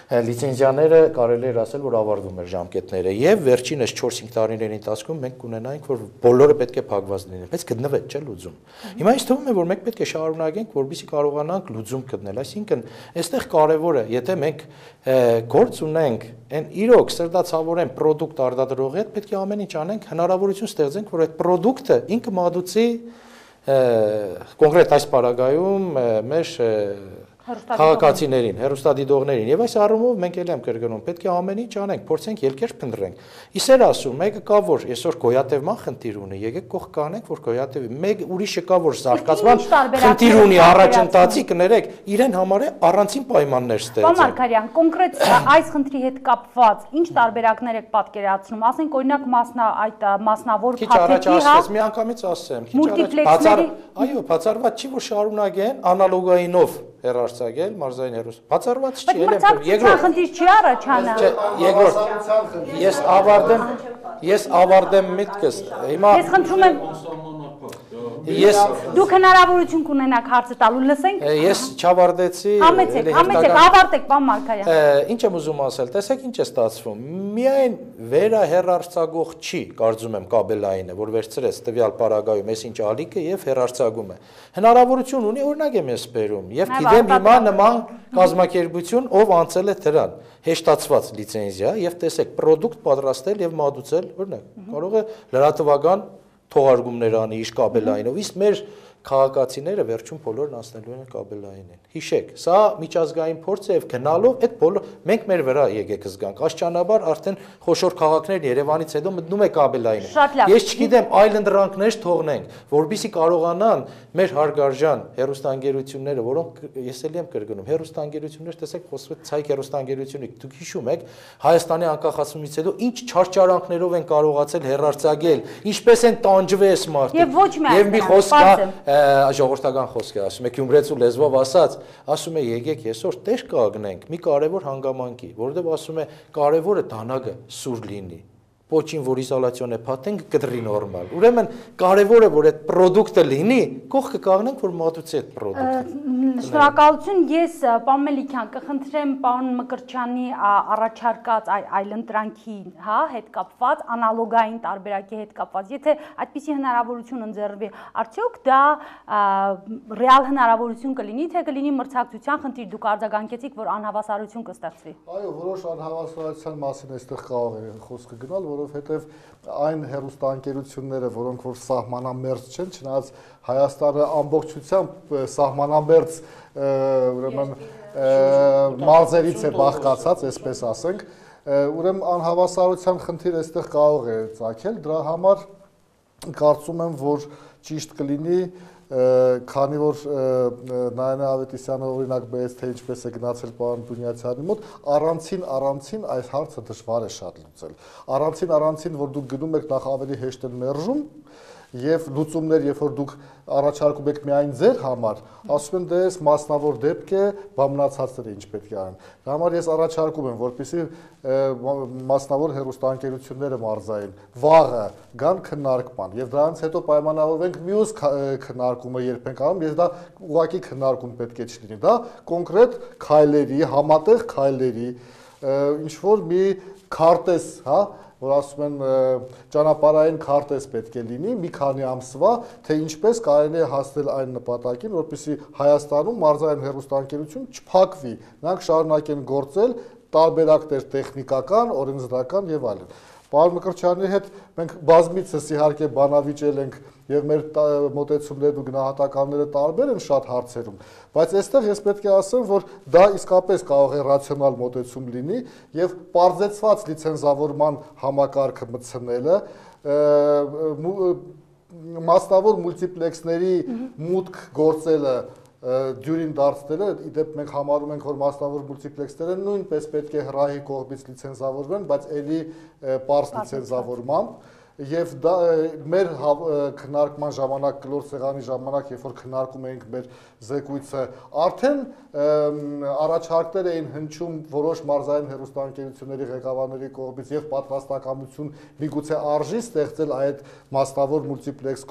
լիցենզիաները կարելի էր ասել, որ ավարտվում էր ժամկետները եւ վերջինս 4-5 տարիների ընթացքում մենք կունենայինք, որ բոլորը պետք է փակված լինեն, բայց գտնվեց չէ լուծում։ Հիմա ինձ թվում է, որ մենք պետք է շարունակենք, որպեսզի կարողանանք լուծում գտնել, այսինքն այստեղ կարևոր է, եթե մենք գործ ունենք, այն իրոք սրտացավորեն product արտադրողի հետ, պետք է ամեն ինչ անենք, հնարավորություն ստեղծենք, որ այդ product-ը ինքը մատուցի կոնկրետ այս պարագայում մեր քաղաքացիներին, հեռուստադիտողներին։ Եվ այս առումով մենք էլ եմ կրկնում, պետք է ամեն ինչ անենք, փորձենք ելքեր փնտրենք։ Իսեր ասում, մեկը կա որ այսօր գոյատևման խնդիր ունի, եկեք կողք կանենք, որ գոյատևի։ Մեկ ուրիշը կա որ զարգացման խնդիր ունի, առաջընթացի կներեք, իրեն համար է առանցին պայմաններ ստեղծել։ Պարոն Մարգարյան, կոնկրետ այս խնդրի հետ կապված ինչ տարբերակներ եք պատկերացնում, ասենք օրինակ մասնավոր փաթեթի, հա, մի անգամից ասեմ, այո, բացառված չի որ շարունակեն անալոգայինով հեռարձակել մարզային հեռուստա։ Բացառված չի, երկրորդ խնդիր չի առաջանա։ Երկրորդ, ես ավարտեմ միտքս։ Հիմա ես խնդրում եմ Դուք հնարավորություն կունենաք հարցը տալու, լսենք։ Ես չավարտեցի։ Համեցեք, ավարտեք, պարոն Մարգարյան։ Ինչ եմ ուզում ասել, տեսեք ինչ է ստացվում։ Միայն վերահեռարձակող չի, կարծում եմ, կաբելայինը, որ վերցրեց տվյալ պարագայում այս ինչ ալիքը եւ հեռարձակում է։ Հնարավորություն ունի, օրինակ եմ ես բերում, եւ գիտեմ հիմա նման կազմակերպություն, ով անցել է դրան, հեշտացված լիցենզիա եւ տեսեք, պրոդուկտ պատրաստել եւ մատուցել, օրինակ, կարող է լրատվական թողարկումներ անի իշ կաբելայինով, իսկ մեր քաղաքացիները վերջում բոլորն անցնելու են կաբելայինին։ Հիշեք, սա միջազգային փորձ է եւ գնալով այդ բոլոր մենք մեր վրա եկեք զգանք։ Աշճանաբար արդեն խոշոր քաղաքներ Երևանից հետո մտնում է կաբելայինը։ Ես չգիտեմ, այլ ընդրանքներ թողնենք, որբիսի կարողանան մեր հարգարժան հեռուստաընկերությունները, որոնք ես էլ եմ կրկնում, հեռուստաընկերություններ, տեսեք, խոսվում է ցայք հեռուստաընկերությունի, դուք հիշում եք, Հայաստանի անկախացումից հետո ինչ չարչարանքներով են կարողացել հեռարձակել, ինչպես են տանջվես մարդիկ։ Եվ մի խոսք ժողովրդական խոսք է ասում է Գյումրեցու լեզվով ասած, ասում է եկեք այսօր տեր կանգնենք մի կարևոր հանգամանքի, որովհետև ասում է կարևորը դանակը սուր լինի։ Ոչին որ իզոլացիոն է փաթենք կդրի նորմալ։ Ուրեմն կարևորը որ այդ պրոդուկտը լինի, կողքը կանգնենք որ մատուցի այդ պրոդուկտը։ Շնորհակալություն, ես պարոն Մելիքյան կխնդրեմ պարոն Մկրտչյանի առաջարկած այլ ընտրանքի, հա, հետ կապված, անալոգային տարբերակի հետ կապված, եթե այդպիսի հնարավորություն ընձեռվի, արդյոք դա ռեալ հնարավորություն կլինի, թե կլինի մրցակցության խնդիր, դուք արձագանքեցիք, որ անհավասարություն կստեղծվի։ Այո, որոշ անհավասարության մասին այստեղ կարող է խոսքը գնալ, որովհետև այն հեռուստաընկերությունները, որոնք որ սահմանամերձ չեն, չնայած Հայաստանը ամբողջությամբ սահմանամերձ ուրեմն մարզերից է բաղկացած, այսպես ասենք, ուրեմն անհավասարության խնդիր այստեղ կարող է ծագել, դրա համար կարծում եմ, որ ճիշտ կլինի, քանի որ Նայանե Ավետիսյանը օրինակ բերեց, թե ինչպես է գնացել պարոն Բունյացյանի մոտ, առանցին այս հարցը դժվար է շատ լուծել։ Առանցին, որ դուք գնում եք նախ ավելի հեշտ են մերժում, եւ լուծումներ, երբ որ դուք առաջարկում եք միայն ձեր համար, ասում են դե այս մասնավոր դեպք է, բամնացածները ինչ պետք է անեն։ Դա համար ես առաջարկում եմ, որպեսզի մասնավոր հեռուստաընկերությունները մարզային վաղը գան քննարկման եւ դրանից հետո պայմանավորվենք մյուս քննարկումը երբ ենք անում, ես դա ուղղակի քննարկում պետք է չլինի, դա կոնկրետ քայլերի, համատեղ քայլերի, ինչ որ մի քարտեզ, հա, որ ասում են ճանապարհային քարտեզ պետք է լինի մի քանի ամսվա, թե ինչպես կարելի է հասնել այն նպատակին, որպեսզի Հայաստանում մարզային հեռուստաընկերություն չփակվի, նրանք շարունակեն գործել տարբերակներ տեխնիկական, օրենսդրական եւ այլն։ Պարոն Մկրտչյանի հետ մենք բազմիցս իհարկե բանավիճել ենք եւ մեր մոտեցումներն ու գնահատականները տարբեր են շատ հարցերում, բայց այստեղ ես պետք է ասեմ, որ դա իսկապես կարող է ռացիոնալ մոտեցում լինի եւ պարզեցված լիցենզավորման համակարգը մտցնելը, մասնավոր մուլտիպլեքսների մուտք գործելը դյուրին դարձնելը, իդեպ մենք համարում ենք, որ մասնավոր մուլտիպլեքսները նույնպես պետք է հրահի կողմից լիցենզավորվեն, բայց ելի պարզ լիցենզավորմամբ եւ դա մեր քննարկման ժամանակ, կլոր սեղանի ժամանակ, երբ որ քննարկում էինք մեր զեկույցը, արդեն առաջարկներ էին հնչում որոշ մարզային հեռուստաընկերությունների ղեկավարների կողմից եւ պատրաստակամություն միգուցե արժի ստեղծել այդ մասնավոր մուլտիպլեքս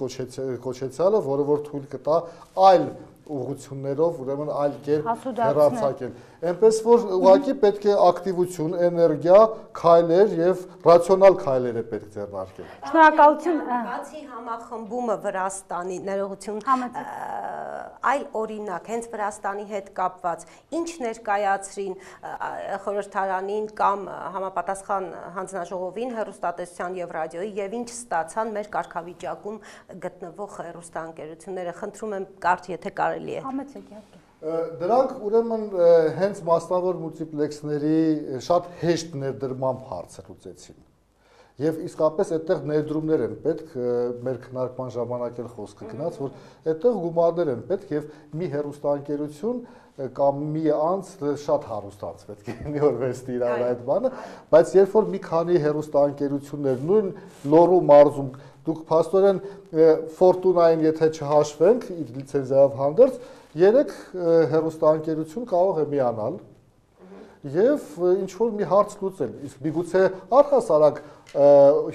կոչեցյալը, որը որ թույլ կտա այլ ուղղություններով, ուրեմն այլ կերպ հեռարձակել։ Այնպես որ ուղղակի պետք է ակտիվություն, էներգիա, քայլեր եւ ռացիոնալ քայլեր է պետք ձեռնարկել։ Շնորհակալություն։ Բացի համախմբումը Վրաստանի ներողություն, այլ օրինակ, հենց Վրաստանի հետ կապված, ինչ ներկայացրին խորհրդարանին կամ համապատասխան հանձնաժողովին հեռուստատեսության եւ ռադիոյի եւ ինչ ստացան մեր կարգավիճակում գտնվող հեռուստաընկերությունները, խնդրում եմ կարճ, եթե կարելի է։ Համեցեք իհարկե։ Դրանք ուրեմն հենց մասնավոր մուլտիպլեքսների շատ հեշտ ներդրմամբ հարցը լուծեցին։ Եվ իսկապես այդտեղ ներդրումներ են պետք, մեր քննարկման ժամանակ էլ խոսքը գնաց, որ այդտեղ գումարներ են պետք եւ մի հեռուստաընկերություն կամ մի անձ շատ հարուստ անձ պետք է լինի, որ վերցնի իրար այդ բանը, բայց երբ որ մի քանի հեռուստաընկերություններ նույն Լոռու մարզում դուք փաստորեն Ֆորտունային եթե չհաշվենք իր լիցենզիայով հանդերձ 3 հեռուստաընկերություն կարող է միանալ եւ ինչ որ մի հարց լուծել, իսկ միգուցե առհասարակ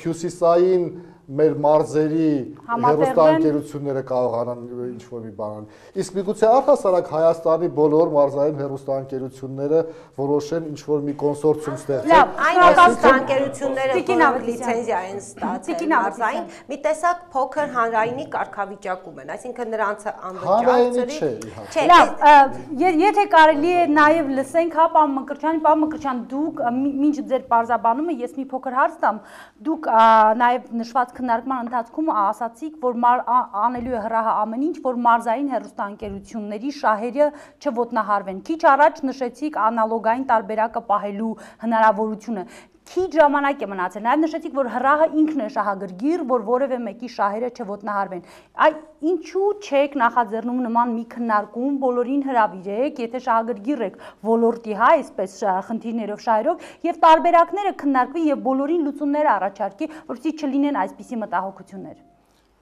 հյուսիսային մեր մարզերի հեռուստաընկերությունները կարողանան ինչ որ մի բան անել։ Իսկ միգուցե առհասարակ Հայաստանի բոլոր մարզային հեռուստաընկերությունները որոշեն ինչ որ մի կոնսորցիում ստեղծել։ Լավ, այն հեռուստաընկերությունները, որոնք լիցենզիա են ստացել մարզային, մի տեսակ փոքր հանրայինի կարգավիճակում են, այսինքն նրանց անվճար Չէ։ Լավ, եթե կարելի է նաև լսենք, հա, պարոն Մկրտչյան, դուք մինչ ձեր պարզաբանումը ես մի փոքր հարց տամ, դուք նաև նշված քննարկման ընթացքում ասացիք, որ անելու է հրահը ամեն ինչ, որ մարզային հեռուստաընկերությունների շահերը չոտնահարվեն։ Քիչ առաջ նշեցիք անալոգային տարբերակը պահելու հնարավորությունը։ Քիչ ժամանակ է մնացել։ Նաև նշեցիք, որ հրահը ինքն է շահագրգիռ, որ որևէ մեկի շահերը չոտնահարվեն։ Ինչու չեք նախաձեռնում նման մի քննարկում, բոլորին հրավիրեք, եթե շահագրգիռ եք ոլորտի, հա, այսպես խնդիրներով, շահերով, եւ տարբերակները քննարկվի եւ բոլորին լուծումներ առաջարկի, որպեսզի չլինեն այսպիսի մտահոգություններ։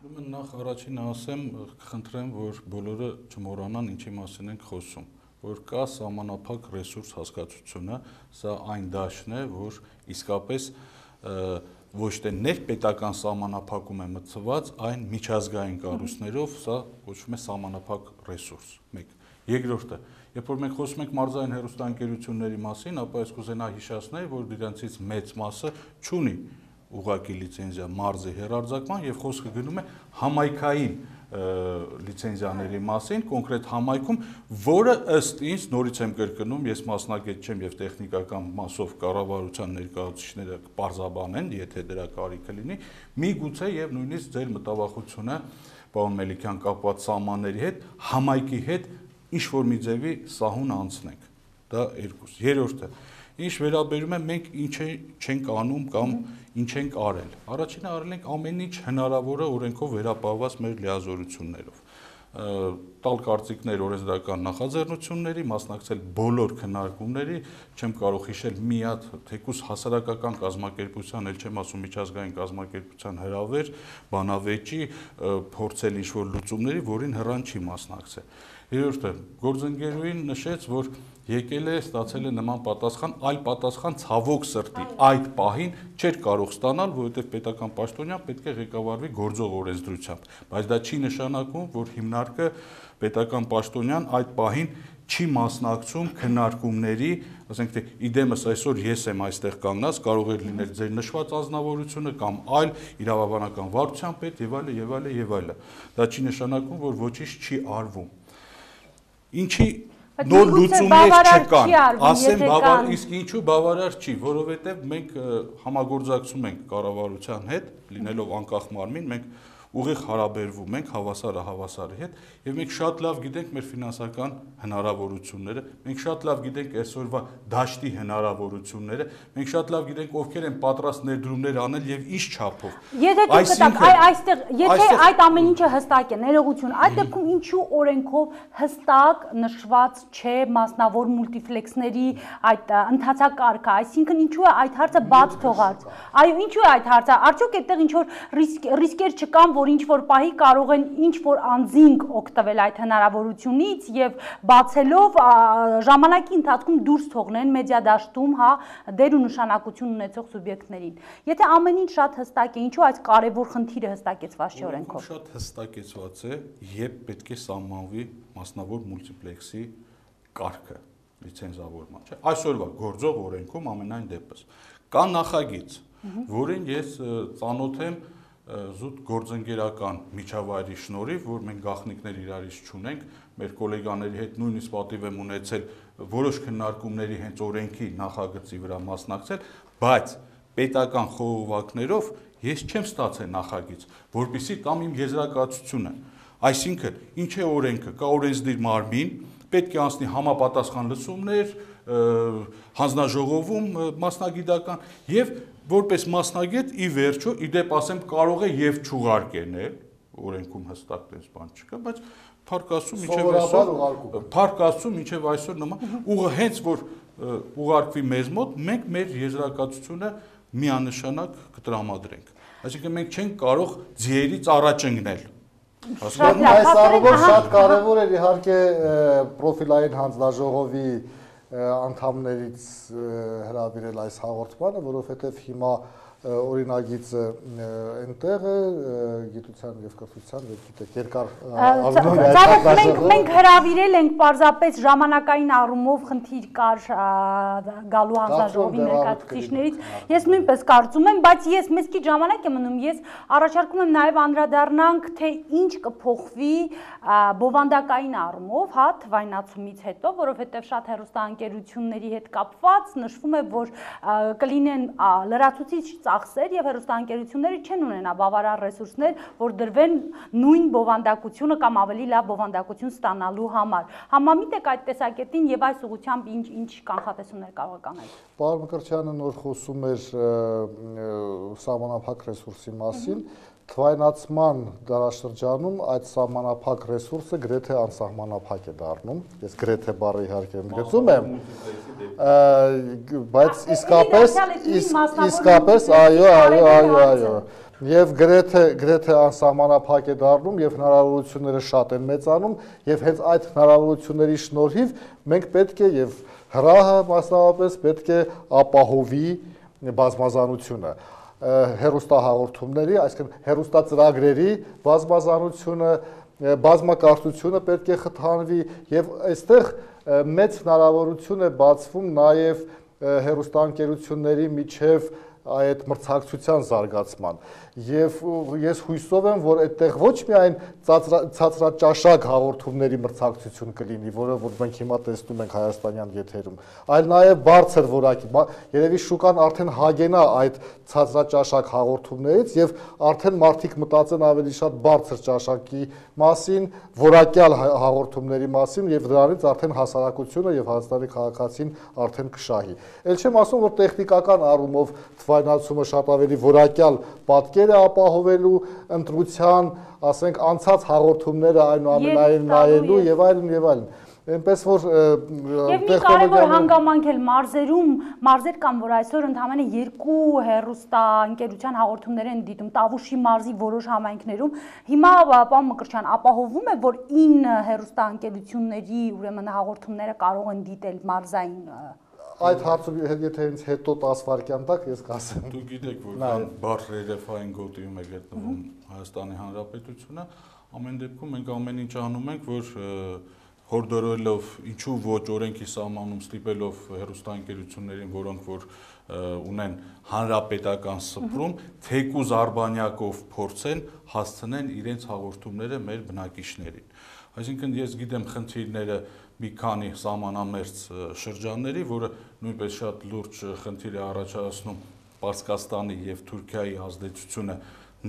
Ուրեմն նախ առաջինը ասեմ, կխնդրեմ, որ բոլորը չմոռանան ինչի մասին ենք խոսում, որ կա սահմանափակ ռեսուրս հասկացությունը, սա այն դաշտն է, որ իսկապես ոչ թե ներպետական սահմանափակում է մտցված, այն միջազգային կառույցներով սա կոչվում է սահմանափակ ռեսուրս։ 1. Երկրորդը, երբ որ մենք խոսում ենք մարզային հեռուստաընկերությունների մասին, ապա ես կուզենա հիշեցնել, որ դրանցից մեծ մասը չունի ուղղակի լիցենզիա մարզի հեռարձակման եւ խոսքը գնում է համայնքային լիցենզիաների մասին, կոնկրետ համայնքում, որը ըստ ինձ նորից եմ կրկնում, ես մասնագետ չեմ եւ տեխնիկական մասով կառավարության ներկայացուցիչները կպարզաբանեն, եթե դրա կարիքը լինի, միգուցե եւ նույնիսկ ձեր մտավախությունը, պարոն Մելիքյան, կապված սահմանների հետ, համայնքի հետ ինչ որ մի ձևի սահուն անցնենք։ Դա երկուս։ Երրորդը, ինչ վերաբերում է մենք ինչ չենք անում կամ ինչ ենք արել։ Առաջինը արել ենք ամեն ինչ հնարավորը օրենքով վերապահված մեր լիազորություններով։ Տալ կարծիքներ օրենսդրական նախաձեռնությունների, մասնակցել բոլոր քննարկումների, չեմ կարող հիշել մի հատ թեկուզ հասարակական կազմակերպության, էլ չեմ ասում միջազգային կազմակերպության հրավեր, բանավեճի, փորձել ինչ-որ լուծումների, որին հեռան չի մասնակցել։ Երրորդը, գործընկերուհին նշեց, որ եկել է, ստացել է նման պատասխան, այլ պատասխան ցավոք սրտի այդ պահին չէր կարող ստանալ, որովհետև պետական պաշտոնյան պետք է ղեկավարվի գործող օրենսդրությամբ, բայց դա չի նշանակում, որ հիմնարկը պետական պաշտոնյան այդ պահին չի մասնակցում քննարկումների, ասենք թե իդեմս այսօր ես եմ այստեղ կանգնած, կարող է լինել ձեր նշված անձնավորությունը կամ այլ իրավաբանական վարչության պետ եւ այլը եւ այլը եւ այլը։ Դա չի նշանակում, որ ոչինչ չի արվում։ Ինչի նոր լուծումներ չկան, ասեմ բավարար, իսկ ինչու բավարար չի, որովհետև մենք համագործակցում ենք կառավարության հետ, լինելով անկախ մարմին, մենք ուղիղ հարաբերվում ենք հավասարը հավասարի հետ եւ մենք շատ լավ գիտենք մեր ֆինանսական հնարավորությունները, մենք շատ լավ գիտենք այսօրվա դաշտի հնարավորությունները, մենք շատ լավ գիտենք ովքեր են պատրաստ ներդրումներ անել եւ ինչ չափով։ Եթե դուք կտակ այստեղ, եթե այդ ամեն ինչը հստակ է, ներողություն, այդ դեպքում ինչու օրենքով հստակ նշված չէ մասնավոր մուլտիպլեքսների այդ ընթացակարգը, այսինքն ինչու է այդ հարցը բաց թողած։ Այո, ինչու է այդ հարցը։ Արդյոք այդտեղ ինչ որ ռիսկեր չկան, որ ինչ որ պահի կարող են ինչ որ անձինք օգտվել այդ հնարավորությունից եւ բացելով ժամանակի ընթացքում դուրս թողնեն մեդիադաշտում, հա, դեր ու նշանակություն ունեցող սուբյեկտներին։ Եթե ամեն ինչ շատ հստակ է, ինչու այս կարևոր խնդիրը հստակեցված չէ օրենքով։ Շատ հստակեցված է, երբ պետք է սահմանվի մասնավոր մուլտիպլեքսի կարգը լիցենզավորման, չէ՞։ Այսօրվա գործող օրենքում ամենայն դեպս կա նախագիծ, որին ես ծանոթ եմ զուտ գործընկերական միջավայրի շնորհիվ, որ մենք գաղտնիքներ իրարից չունենք, մեր գոլեգաների հետ նույնիսկ պատիվ եմ ունեցել որոշ քննարկումների հենց օրենքի նախագծի վրա մասնակցել, բայց պետական խողովակներով ես չեմ ստացել նախագիծ, որպեսզի տամ իմ եզրակացությունը։ Այսինքն, ինչ է օրենքը, կա օրենսդիր մարմին, պետք է անցնի համապատասխան լսումներ, հանձնաժողովում մասնագիտական եւ որպես մասնագետ ի վերջո իդեպ ասեմ կարող է եւ չուղարկել, օրենքում հստակ տես բան չկա, բայց Փառք Աստծո մինչև այսօր նման ուղը հենց որ ուղարկվի մեզ մոտ, մենք մեր եզրակացությունը միանշանակ կտրամադրենք։ Այսինքն մենք չենք կարող ձիերից առաջ ընկնել։ Այս առումով շատ կարևոր է իհարկե պրոֆիլային հանձնաժողովի անդամներից հրավիրել այս հաղորդմանը, որովհետև հիմա օրինագիծը այնտեղ է գիտության եւ կրթության եւ գիտեք երկար մենք հրավիրել ենք պարզապես ժամանակային առումով խնդիր կար գալու հանձնաժողովի ներկայացուցիչներից ես նույնպես կարծում եմ բայց ես մեծ քիչ ժամանակ եմ մնում ես առաջարկում եմ նաեւ անդրադառնանք թե ինչ կփոխվի բովանդակային առումով հա թվայնացումից հետո որովհետեւ շատ հեռուստաընկերությունների հետ կապված նշվում է որ կլինեն լրացուցիչ ծախսեր եւ հեռուստաընկերությունները չեն ունենա բավարար ռեսուրսներ, որ դրվեն նույն բովանդակությունը կամ ավելի լավ բովանդակություն ստանալու համար։ Համամիտ եք այդ տեսակետին եւ այս ուղղությամբ ինչ կանխատեսումներ կարող եք անել։ Պարոն Մկրտչյանը նոր խոսում էր սահմանափակ ռեսուրսի մասին, թվայնացման դարաշրջանում այդ սահմանափակ ռեսուրսը գրեթե անսահմանափակ է դառնում։ Ես գրեթե բառը իհարկե ընդգծում եմ, բայց իսկապես այո եւ գրեթե անսահմանափակ է դառնում եւ հնարավորությունները շատ են մեծանում եւ հենց այդ հնարավորությունների շնորհիվ մենք պետք է եւ հրահը մասնավորապես պետք է ապահովի բազմազանությունը հեռուստահաղորդումների, այսինքն հեռուստածրագրերի բազմազանությունը, բազմակարծությունը պետք է խթանվի եւ այստեղ մեծ հնարավորություն է բացվում նաեւ հեռուստաընկերությունների միջև այդ մրցակցության զարգացման եւ ես հույսով եմ որ այդտեղ ոչ միայն ցածրաճաշակ հաղորդումների մրցակցություն կլինի որը որ մենք հիմա տեսնում ենք հայաստանյան եթերում այլ նաեւ բարձր որակի երևի շուկան արդեն հագենա այդ ցածրաճաշակ հաղորդումներից եւ արդեն մարդիկ մտածեն ավելի շատ բարձր ճաշակի մասին որակյալ հաղորդումների մասին եւ դրանից արդեն հասարակությունը եւ Հայաստանի քաղաքացին արդեն կշահի ել չեմ ասում որ տեխնիկական առումով թվայնացումը շատ ավելի որակյալ պատկեր է ապահովելու ընտրության, ասենք, անցած հաղորդումները այնուամենայնիվ նայելու եւ այլն։ Այնպես որ Եվ մի կարևոր հանգամանք էլ մարզեր կան, որ այսօր ընդհանրապես երկու հեռուստաընկերության հաղորդումներ են դիտում Տավուշի մարզի որոշ համայնքներում։ Հիմա պարոն Մկրտչյան ապահովում է, որ 9 հեռուստաընկերությունների ուրեմն հաղորդումները կարող են դիտել մարզային Այդ հարցը եթե ինձ հետո 10 վայրկյան տակ ես կասեմ։ Դու գիտեք որ կան բարձ ռելիեֆային գոտիում է գտնվում Հայաստանի Հանրապետությունը, ամեն դեպքում մենք ամեն ինչ անում ենք, որ հորդորելով ինչու ոչ օրենքի սահմանում ստիպելով հեռուստաընկերություններին, որոնք որ ունեն հանրապետական սփռում, թեկուզ արբանյակով փորձեն հասցնեն իրենց հաղորդումները մեր բնակիչներին։ Այսինքն ես գիտեմ խնդիրները մի քանի սահմանամերձ շրջանների, որը նույնպես շատ լուրջ խնդիր է առաջացնում Պարսկաստանի եւ Թուրքիայի ազդեցությունը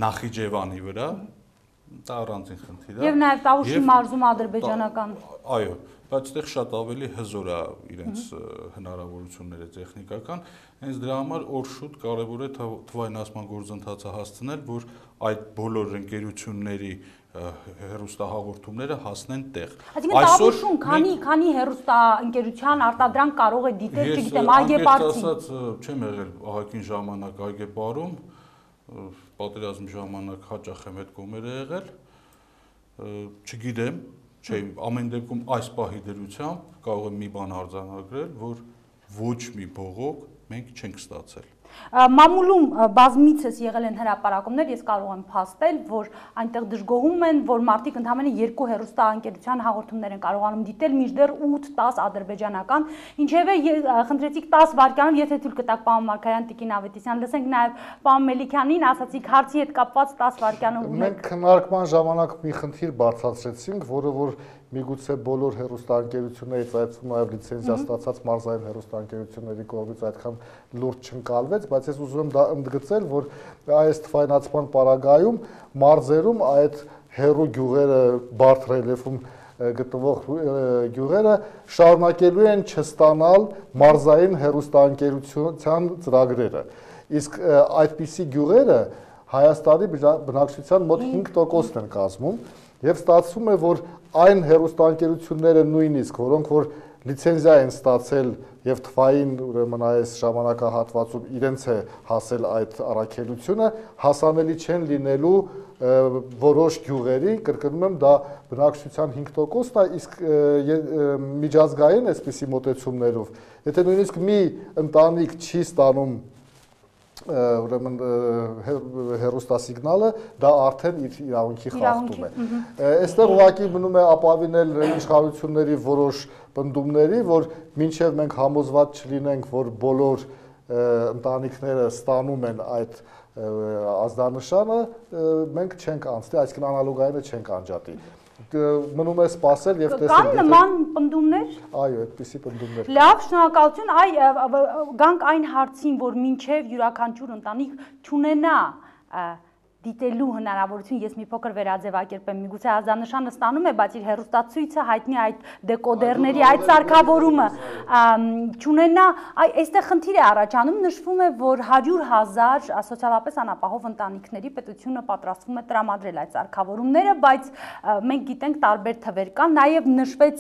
Նախիջևանի վրա, դա առանձին խնդիր է։ Եվ նաեւ Տավուշի մարզում ադրբեջանական։ Այո, բայց այդտեղ շատ ավելի հզոր է իրենց հնարավորությունները տեխնիկական, հենց դրա համար օր շուտ կարևոր է թվայնացման գործընթացը հասցնել, որ այդ բոլոր ընկերությունների հեռուստահաղորդումները հասնեն տեղ։ Այսինքն Տավուշում քանի հեռուստաընկերության արտադրանք կարող է դիտել, չգիտեմ, Այգեպարցին։ Ես չեմ եղել ահագին ժամանակ Այգեպարում, պատերազմի ժամանակ հաճախ եմ այդ կողմերը եղել, չգիտեմ, ամեն դեպքում այս պահի դրությամբ կարող եմ մի բան արձանագրել, որ ոչ մի բողոք մենք չենք ստացել։ Մամուլում բազմիցս եղել են հրապարակումներ, ես կարող եմ փաստել, որ այնտեղ դժգոհում են, որ մարդիկ ընդհանրապես երկու հեռուստաընկերության հաղորդումներ են կարողանում դիտել, մինչդեռ 8-10 ադրբեջանական, ինչևէ խնդրեցիք 10 վայրկյանում, եթե թույլ կտաք պարոն Մարգարյան Տիկին Ավետիսյան, լսենք նաև պարոն Մելիքյանին, ասացիք հարցի հետ կապված 10 վայրկյանում ունենք։ Մենք քննարկման ժամանակ մի խնդիր բարձրացրեցինք, որը որ միգուցե բոլոր հեռուստաընկերություններից այդպես նաև լիցենզիա ստացած մարզային հեռուստաընկերությունների կողմից այդքան լուրջ չընկալվեց, բայց ես ուզում եմ դա ընդգծել, որ այս թվայնացման պարագայում մարզերում այդ հեռու գյուղերը բարդ ռելիեֆում գտնվող գյուղերը շարունակելու են չստանալ մարզային հեռուստաընկերության ծրագրերը։ Իսկ այդպիսի գյուղերը Հայաստանի բնակչության մոտ 5%-ն են կազմում եւ ստացվում է, որ այն հեռուստաընկերությունները նույնիսկ, որոնք որ լիցենզիա են ստացել եւ թվային ուրեմն այս ժամանակահատվածում իրենց է հասել այդ առաքելությունը, հասանելի չեն լինելու որոշ գյուղերի, կրկնում եմ, դա բնակչության 5%-ն է, իսկ միջազգային այսպիսի մոտեցումներով, եթե նույնիսկ մի ընտանիք չի ստանում ուրեմն հեռուստասիգնալը, դա արդեն իր իրավունքի խախտում է։ Այստեղ ուղղակի մնում է ապավինել իշխանությունների որոշ պնդումների, որ մինչև մենք համոզված չլինենք, որ բոլոր ընտանիքները ստանում են այդ ազդանշանը, մենք չենք անցնի, այսինքն անալոգայինը չենք անջատի։ Մնում է սպասել եւ տեսնել։ Կան նման պնդումներ։ Այո, այդպիսի պնդումներ։ Լավ, շնորհակալություն, գանք այն հարցին, որ մինչև յուրաքանչյուր ընտանիք չունենա դիտելու հնարավորություն, ես մի փոքր վերաձևակերպեմ, միգուցե ազդանշանը ստանում է, բայց իր հեռուստացույցը հայտնի այդ դեկոդերների այդ սարքավորումը չունենա, այստեղ խնդիր է առաջանում, նշվում է, որ 100,000 սոցիալապես անապահով ընտանիքների պետությունը պատրաստվում է տրամադրել այդ սարքավորումները, բայց մենք գիտենք տարբեր թվեր կան, նաև նշվեց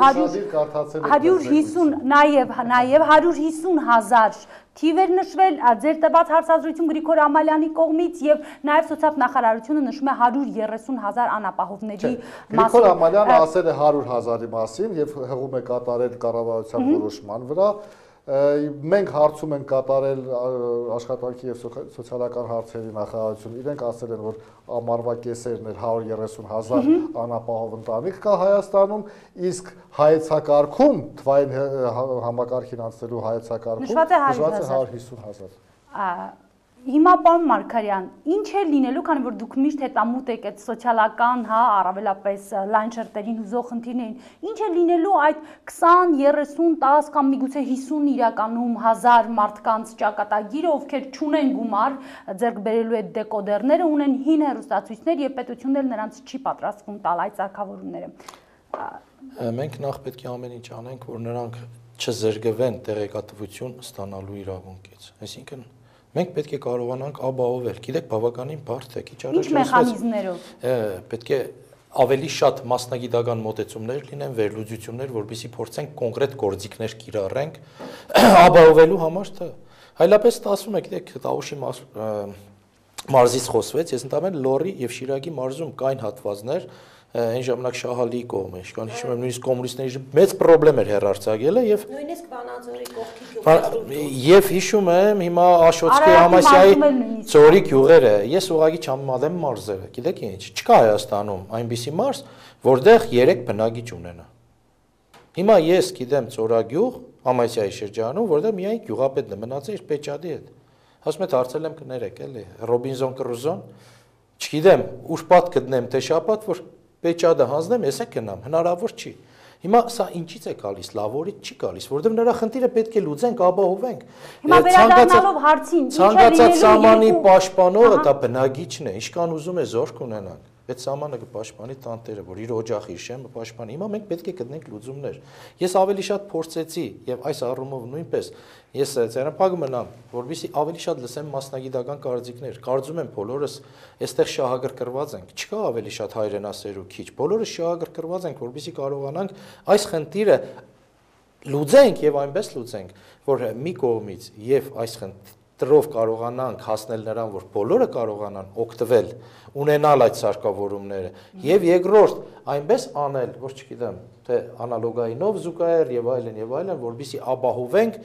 150, նաև 150,000 թիվ էր նշվել ձեր տված հարցազրույցում Գրիգոր Ամալյանի կողմից եւ նաեւ սոցիալ-նախարարությունը նշում է 130,000 անապահովների մասին։ Գրիգոր Ամալյանը ասել է 100,000-ի մասին եւ հղում է կատարել կառավարության որոշման վրա։ Մենք հարցում ենք կատարել աշխատանքի եւ սոցիալական հարցերի նախարարություն, իրենք ասել են, որ ամառվա կեսերն էր 130,000 անապահով ընտանիք կա Հայաստանում, իսկ հայեցակարգում թվային համակարգին անցնելու հայեցակարգում նշված է 150,000։ Հիմա պարոն Մարգարյան, ինչ է լինելու, քանի որ դուք միշտ հետամուտ եք այդ սոցիալական, առավելապես լայն շերտերին հուզող խնդիրներին, ինչ է լինելու այդ 20, 30, 10 կամ միգուցե 50 իրականում հազար մարդկանց ճակատագիրը, ովքեր չունեն գումար ձեռք բերելու այդ դեկոդերները, ունեն հին հեռուստացույցներ եւ պետությունն էլ նրանց չի պատրաստվում տալ այդ սարքավորումները։ Մենք նախ պետք է ամեն ինչ անենք, որ նրանք չզրկվեն տեղեկատվություն ստանալու իրավունքից։ Այսինքն մենք պետք է կարողանանք ապահովել, գիտեք, բավականին բարդ է, քիչ առաջ ինչ մեխանիզմներով։ Պետք է ավելի շատ մասնագիտական մոտեցումներ լինեն, վերլուծություններ, որովհետեւ փորձենք կոնկրետ գործիքներ կիրառենք ապահովելու համար դա։ Այլապես ստացվում է, գիտեք, Տավուշի մարզից խոսվեց, ես ընդամենը Լոռի եւ Շիրակի մարզում կային հատվածներ, այն ժամանակ Շահալիի կողմը, իշքան հիշում եմ, նույնիսկ կոմունիստների մեծ խնդրեմ էր հեռարձակելը եւ նույնիսկ Վանաձորի կողքի գյուղը եւ հիշում եմ հիմա Աշոտսկի Համասյայի ծորի գյուղերը, ես ուղղակի չհամեմատեմ մարզերը, գիտեք ինչ, չկա Հայաստանում այնպիսի մարզ, որտեղ 3 բնակիչ ունենա։ Հիմա ես գիտեմ ծորագյուղ Համասյայի շրջանում, որտեղ միայն գյուղապետն է մնացել իր Պեչադի հետ։ Ասում եմ հարցել եմ կներեք, էլի Ռոբինզոն Կրուզոն, չգիտեմ, ուր պատ գտնեմ, թե շապատ, որ Պեչադը հանձնեմ, ես է գնամ, հնարավոր չի։ Հիմա սա ինչից է գալիս, լավորից չի գալիս, որովհետև նրա խնդիրը պետք է լուծենք, ապահովենք։ Հիմա վերադառնալով հարցին, ցանկացած սահմանի պաշտպանողը դա բնագիչն է, ինչքան ուզում է զորք ունենանք։ Այդ սահմանը կպաշտպանի տանտերը, որ իր օջախի շեմը պաշտպանի։ Հիմա մենք պետք է գտնենք լուծումներ։ Ես ավելի շատ փորձեցի եւ այս առումով նույնպես ես ցերապագում մնամ, որովհետեւ ավելի շատ լսեմ մասնագիտական կարծիքներ։ Կարծում եմ բոլորս այստեղ շահագրգռված ենք։ Չկա ավելի շատ հայրենասեր ու քիչ։ Բոլորս շահագրգռված ենք, որովհետեւ կարողանանք այս խնդիրը լուծենք եւ այնպես լուծենք, որ մի կողմից եւ այս տրով կարողանանք հասնել նրան, որ բոլորը կարողանան օգտվել, ունենալ այդ սարքավորումները եւ երկրորդ այնպես անել, որ չգիտեմ, թե անալոգայինով զուգահեռ եւ այլն, որովհետեւ ապահովենք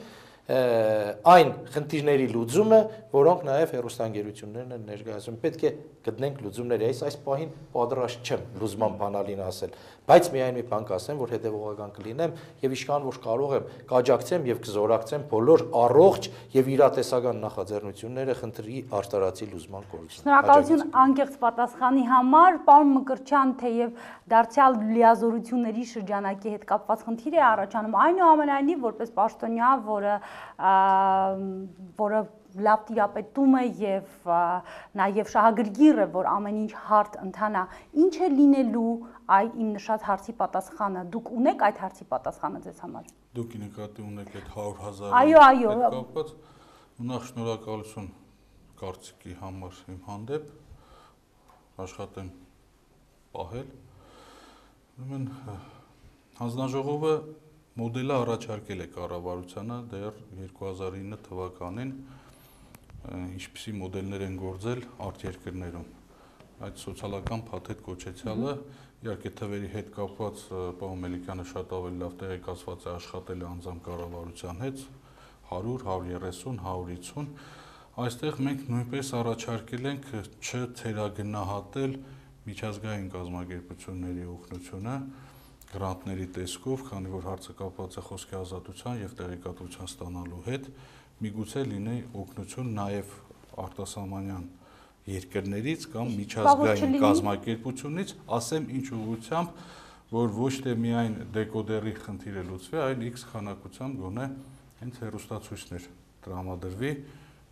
այն խնդիրների լուծումը, որոնք նաև հեռուստաընկերություններն են ներկայացնում։ Պետք է գտնենք լուծումներ, այս պահին պատրաստ չեմ լուծման բանալին ասել, բայց միայն մի բան կասեմ, որ հետևողական կլինեմ եւ ինչքան որ կարող եմ կաջակցեմ եւ կզորակցեմ բոլոր առողջ եւ իրատեսական նախաձեռնությունները խնդրի արտարացի լուծման կողմից։ Շնորհակալություն անկեղծ պատասխանի համար, պարոն Մկրտչյան, թեև դարձյալ լիազորությունների շրջանակի հետ կապված խնդիր է առաջանում, այնուամենայնիվ որպես պաշտոնյա, որը լավ տիրապետում է եւ նաեւ շահագրգիռ է, որ ամեն ինչ հարթ ընթանա, ինչ է լինելու այ իմ նշած հարցի պատասխանը, դուք ունեք այդ հարցի պատասխանը ձեզ համար։ Դուք նկատի ունեք այդ 100,000 Այո, կապված, նախ շնորհակալություն կարծիքի համար իմ հանդեպ, աշխատեմ պահել։ Ուրեմն հանձնաժողովը մոդելը առաջարկել է կառավարությանը դեռ 2009 թվականին, ինչպիսի մոդելներ են գործել արտերկրներում։ Այդ սոցիալական փաթեթ կոչեցյալը, իհարկե թվերի հետ կապված պարոն Մելիքյանը շատ ավելի լավ տեղեկացված է, աշխատել է անձամբ կառավարության հետ 100, 130, 150։ Այստեղ մենք նույնպես առաջարկել ենք չթերագնահատել միջազգային կազմակերպությունների օգնությունը գրանտների տեսքով, քանի որ հարցը կապված է խոսքի ազատության եւ տեղեկատվության ստանալու հետ, միգուցե լինի օգնություն նաեւ արտասահմանյան երկրներից կամ միջազգային կազմակերպությունից, ասեմ ինչ ուղղությամբ, որ ոչ թե միայն դեկոդերի խնդիրը լուծվի, այլ X քանակությամբ գոնե հենց հեռուստացույցներ տրամադրվի,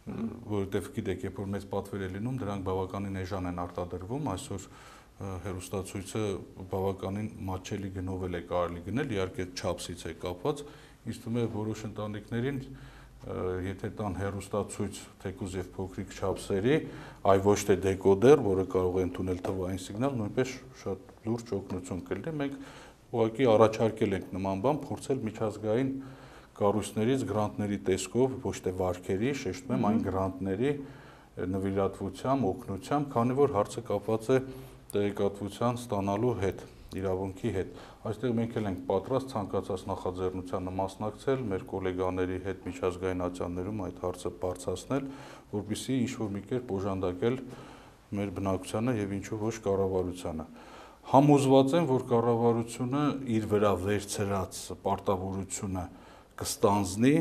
որովհետեւ գիտեք, երբ որ մեծ պատվեր է լինում, դրանք բավականին էժան են արտադրվում, այսօր հեռուստացույցը բավականին մատչելի գնով է կարելի գնել, իհարկե չափսից է կապված, ինձ թվում է որոշ ընտանիքներին եթե տան հեռուստացույց թեկուզ եւ փոքրիկ չափսերի, այ ոչ թե դեկոդեր, որը կարող է ընդունել թվային սիգնալ, նույնպես շատ լուրջ օգնություն կլինի։ Մենք ուղղակի առաջարկել ենք նման բան, փորձել միջազգային կառույցներից գրանտների տեսքով, ոչ թե վարկերի, շեշտում եմ, այն գրանտների նվիրատվությամբ, օգնությամբ, քանի որ հարցը կապված է տեղեկատվության ստանալու հետ, իրավունքի հետ։ Այստեղ մենք էլ ենք պատրաստ ցանկացած նախաձեռնությանը մասնակցել, մեր գոլեգաների հետ միջազգային ատյաններում այդ հարցը բարձրացնել, որպեսզի ինչ-որ մի կերպ օժանդակել մեր բնակչությանը եւ ինչու ոչ կառավարությանը։ Համոզված եմ, որ կառավարությունը իր վրա վերցրած պարտավորությունը կստանձնի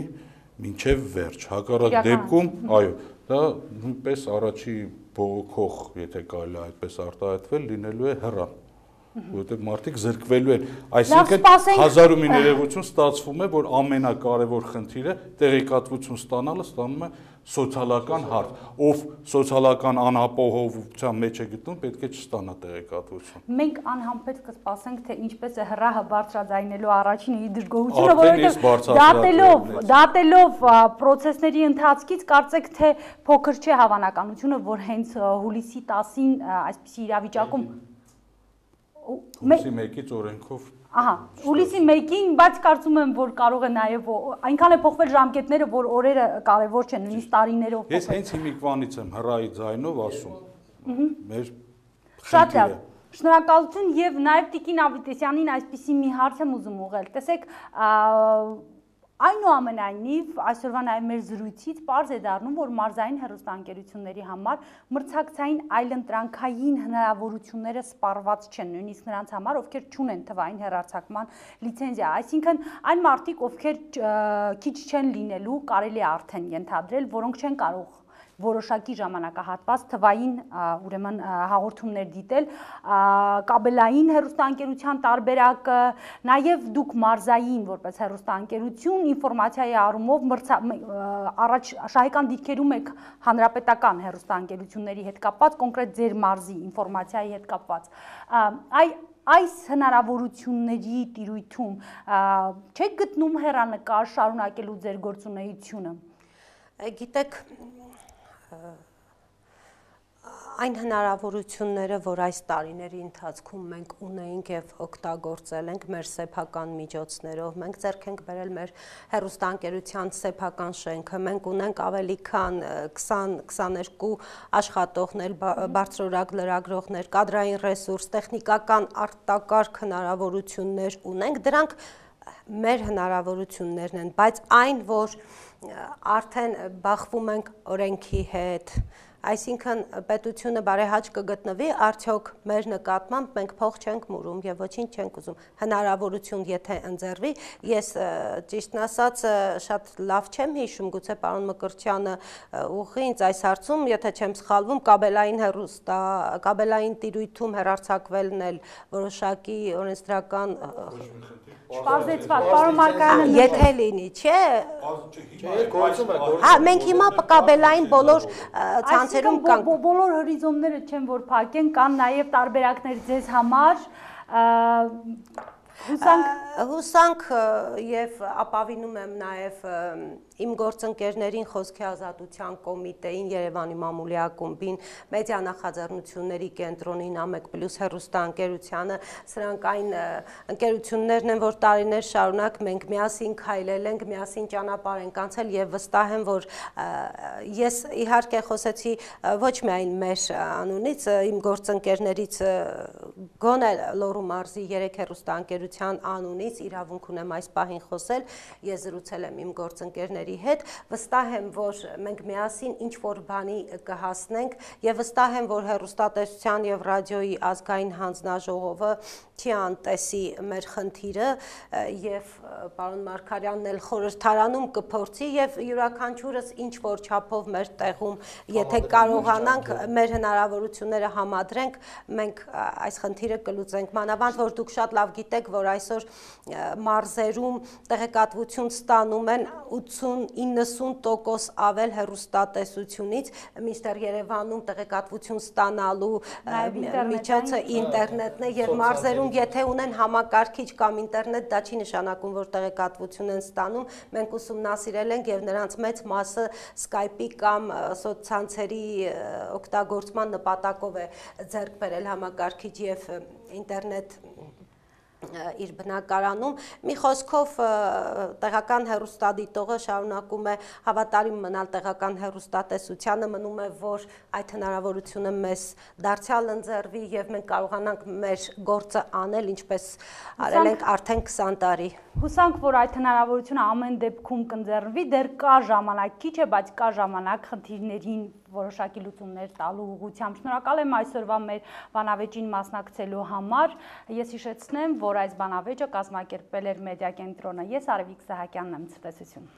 մինչև վերջ։ Հակառակ դեպքում, այո, դա նույնպես առաջի բողոքող, եթե կարելի այդպես արտահայտվել, լինելու է հեռան, որովհետև մարդիկ զրկվելու են, այսինքն հազար ու մի ներողություն ստացվում է, որ ամենակարևոր խնդիրը տեղեկատվություն ստանալը ստանում է սոցիալական հարց, ով սոցիալական անապահովության մեջ է գտնում, պետք է չստանա տեղեկատվություն։ Մենք անհամբեր կսպասենք, թե ինչպես է հրահը բարձրաձայնելու առաջին իր դժգոհությունը, որովհետև դատելով պրոցեսների ընթացքից կարծեք, թե փոքր չէ հավանականությունը, որ հենց հուլիսի 10-ին այսպիսի իրավիճակում Հուլիսի 1-ից օրենքով հուլիսի 1-ին, բայց կարծում եմ, որ կարող է նաև այնքան է փոխվել ժամկետները, որ օրերը կարևոր չեն, նույնիսկ տարիներով փոխվել։ Ես հենց հիմիկվանից եմ հրայի ձայնով ասում։ Մեր շատ լավ։ Շնորհակալություն եւ նաև Տիկին Ավետիսյանին այսպիսի մի հարց եմ ուզում ուղղել։ Տեսեք, այնուամենայնիվ այսօրվա նաև մեր զրույցից պարզ է դառնում, որ մարզային հեռուստաընկերությունների համար մրցակցային այլընտրանքային հնարավորությունները սպառված չեն, նույնիսկ նրանց համար, ովքեր չունեն թվային հեռարձակման լիցենզիա, այսինքն այն մարդիկ, ովքեր քիչ չեն լինելու, կարելի է արդեն ենթադրել, որոնք չեն կարող որոշակի ժամանակահատված թվային ուրեմն հաղորդումներ դիտել, կաբելային հեռուստաընկերության տարբերակը, նաև դուք մարզային որպես հեռուստաընկերություն ինֆորմացիայի առումով առաջ շահեկան դիրքերում եք հանրապետական հեռուստաընկերությունների հետ կապված, կոնկրետ ձեր մարզի ինֆորմացիայի հետ կապված։ Այս հնարավորությունների տիրույթում չեք գտնում հեռանկար շարունակելու ձեր գործունեությունը։ Գիտեք, այն հնարավորությունները, որ այս տարիների ընթացքում մենք ունեինք եւ օգտագործել ենք մեր սեփական միջոցներով, մենք ձեռք ենք բերել մեր հեռուստաընկերության սեփական շենքը, մենք ունենք ավելի քան 20-22 աշխատողներ, բարձրորակ լրագրողներ, կադրային ռեսուրս, տեխնիկական արտակարգ հնարավորություններ ունենք, դրանք մեր հնարավորություններն են, բայց այն, որ արդեն բախվում ենք օրենքի հետ, այսինքն պետությունը բարեհաճ կգտնվի, արդյոք մեր նկատմամբ մենք փող չենք մուրում եւ ոչինչ չենք ուզում, հնարավորություն եթե ընձեռվի, ես ճիշտն ասած շատ լավ չեմ հիշում, գուցե պարոն Մկրտչյանը ուղղի ինձ այս հարցում, եթե չեմ սխալվում, կաբելային տիրույթում հեռարձակվելն էլ որոշակի օրենսդրական Պարզեցված, պարոն Մարկարյանը Եթե լինի, չէ։ Հա, մենք հիմա կաբելային բոլոր ցանցերում կանք։ Բոլոր հորիզոնները չեն որ փակեն, կան նաև տարբերակներ ձեզ համար։ Հուսանք եւ ապավինում եմ նաեւ իմ գործընկերներին Խոսքի ազատության կոմիտեին, Երևանի մամուլի ակումբին, մեդիա նախաձեռնությունների կենտրոնին, ԱՄԵԿ+ հեռուստաընկերությանը, սրանք այն ընկերություններն են, որ տարիներ շարունակ մենք միասին քայլել ենք, միասին ճանապարհ ենք անցել եւ վստահ եմ, որ ես իհարկե խոսեցի ոչ միայն մեր անունից, իմ գործընկերներից գոնե Լոռու մարզի 3 հեռուստաընկերության անունից իրավունք ունեմ այս պահին խոսել, ես զրուցել եմ իմ գործընկերների հետ, վստահ եմ, որ մենք միասին ինչ-որ բանի կհասնենք եւ վստահ եմ, որ հեռուստատեսության եւ ռադիոյի ազգային հանձնաժողովը չի անտեսի մեր խնդիրը եւ պարոն Մարկարյանն էլ խորհրդարանում կփորձի եւ յուրաքանչյուրս ինչ-որ չափով մեր տեղում, եթե կարողանանք մեր հնարավորությունները համադրենք, մենք այս խնդիրը կլուծենք, մանավանդ որ դուք շատ լավ գիտեք, որ այսօր մարզերում տեղեկատվություն ստանում են 80-90% ավել հեռուստատեսությունից, մինչդեռ Երևանում տեղեկատվություն ստանալու միջոցը ինտերնետն է եւ մարզերում եթե ունեն համակարգիչ կամ ինտերնետ, դա չի նշանակում, որ տեղեկատվություն են ստանում, մենք ուսումնասիրել ենք եւ նրանց մեծ մասը Skype-ի կամ սոցցանցերի օգտագործման նպատակով է ձեռք բերել համակարգիչ եւ ինտերնետ իր բնակարանում մի խոսքով տեղական հեռուստադիտողը շարունակում է հավատարիմ մնալ տեղական հեռուստատեսությանը, մնում է, որ այդ հնարավորությունը մեզ դարձյալ ընձեռվի եւ մենք կարողանանք մեր գործը անել, ինչպես արել ենք արդեն 20 տարի։ Հուսանք, որ այդ հնարավորությունը ամեն դեպքում կընձեռվի, դեռ կա ժամանակ, քիչ է, բայց կա ժամանակ խնդիրներին որոշակի լուծումներ տալու ուղղությամբ։ Շնորհակալ եմ այսօրվա մեր բանավեճին մասնակցելու համար։ Ես հիշեցնեմ, որ այս բանավեճը կազմակերպել էր մեդիա կենտրոնը։ Ես Արևիկ Սահակյանն եմ, ցտեսություն։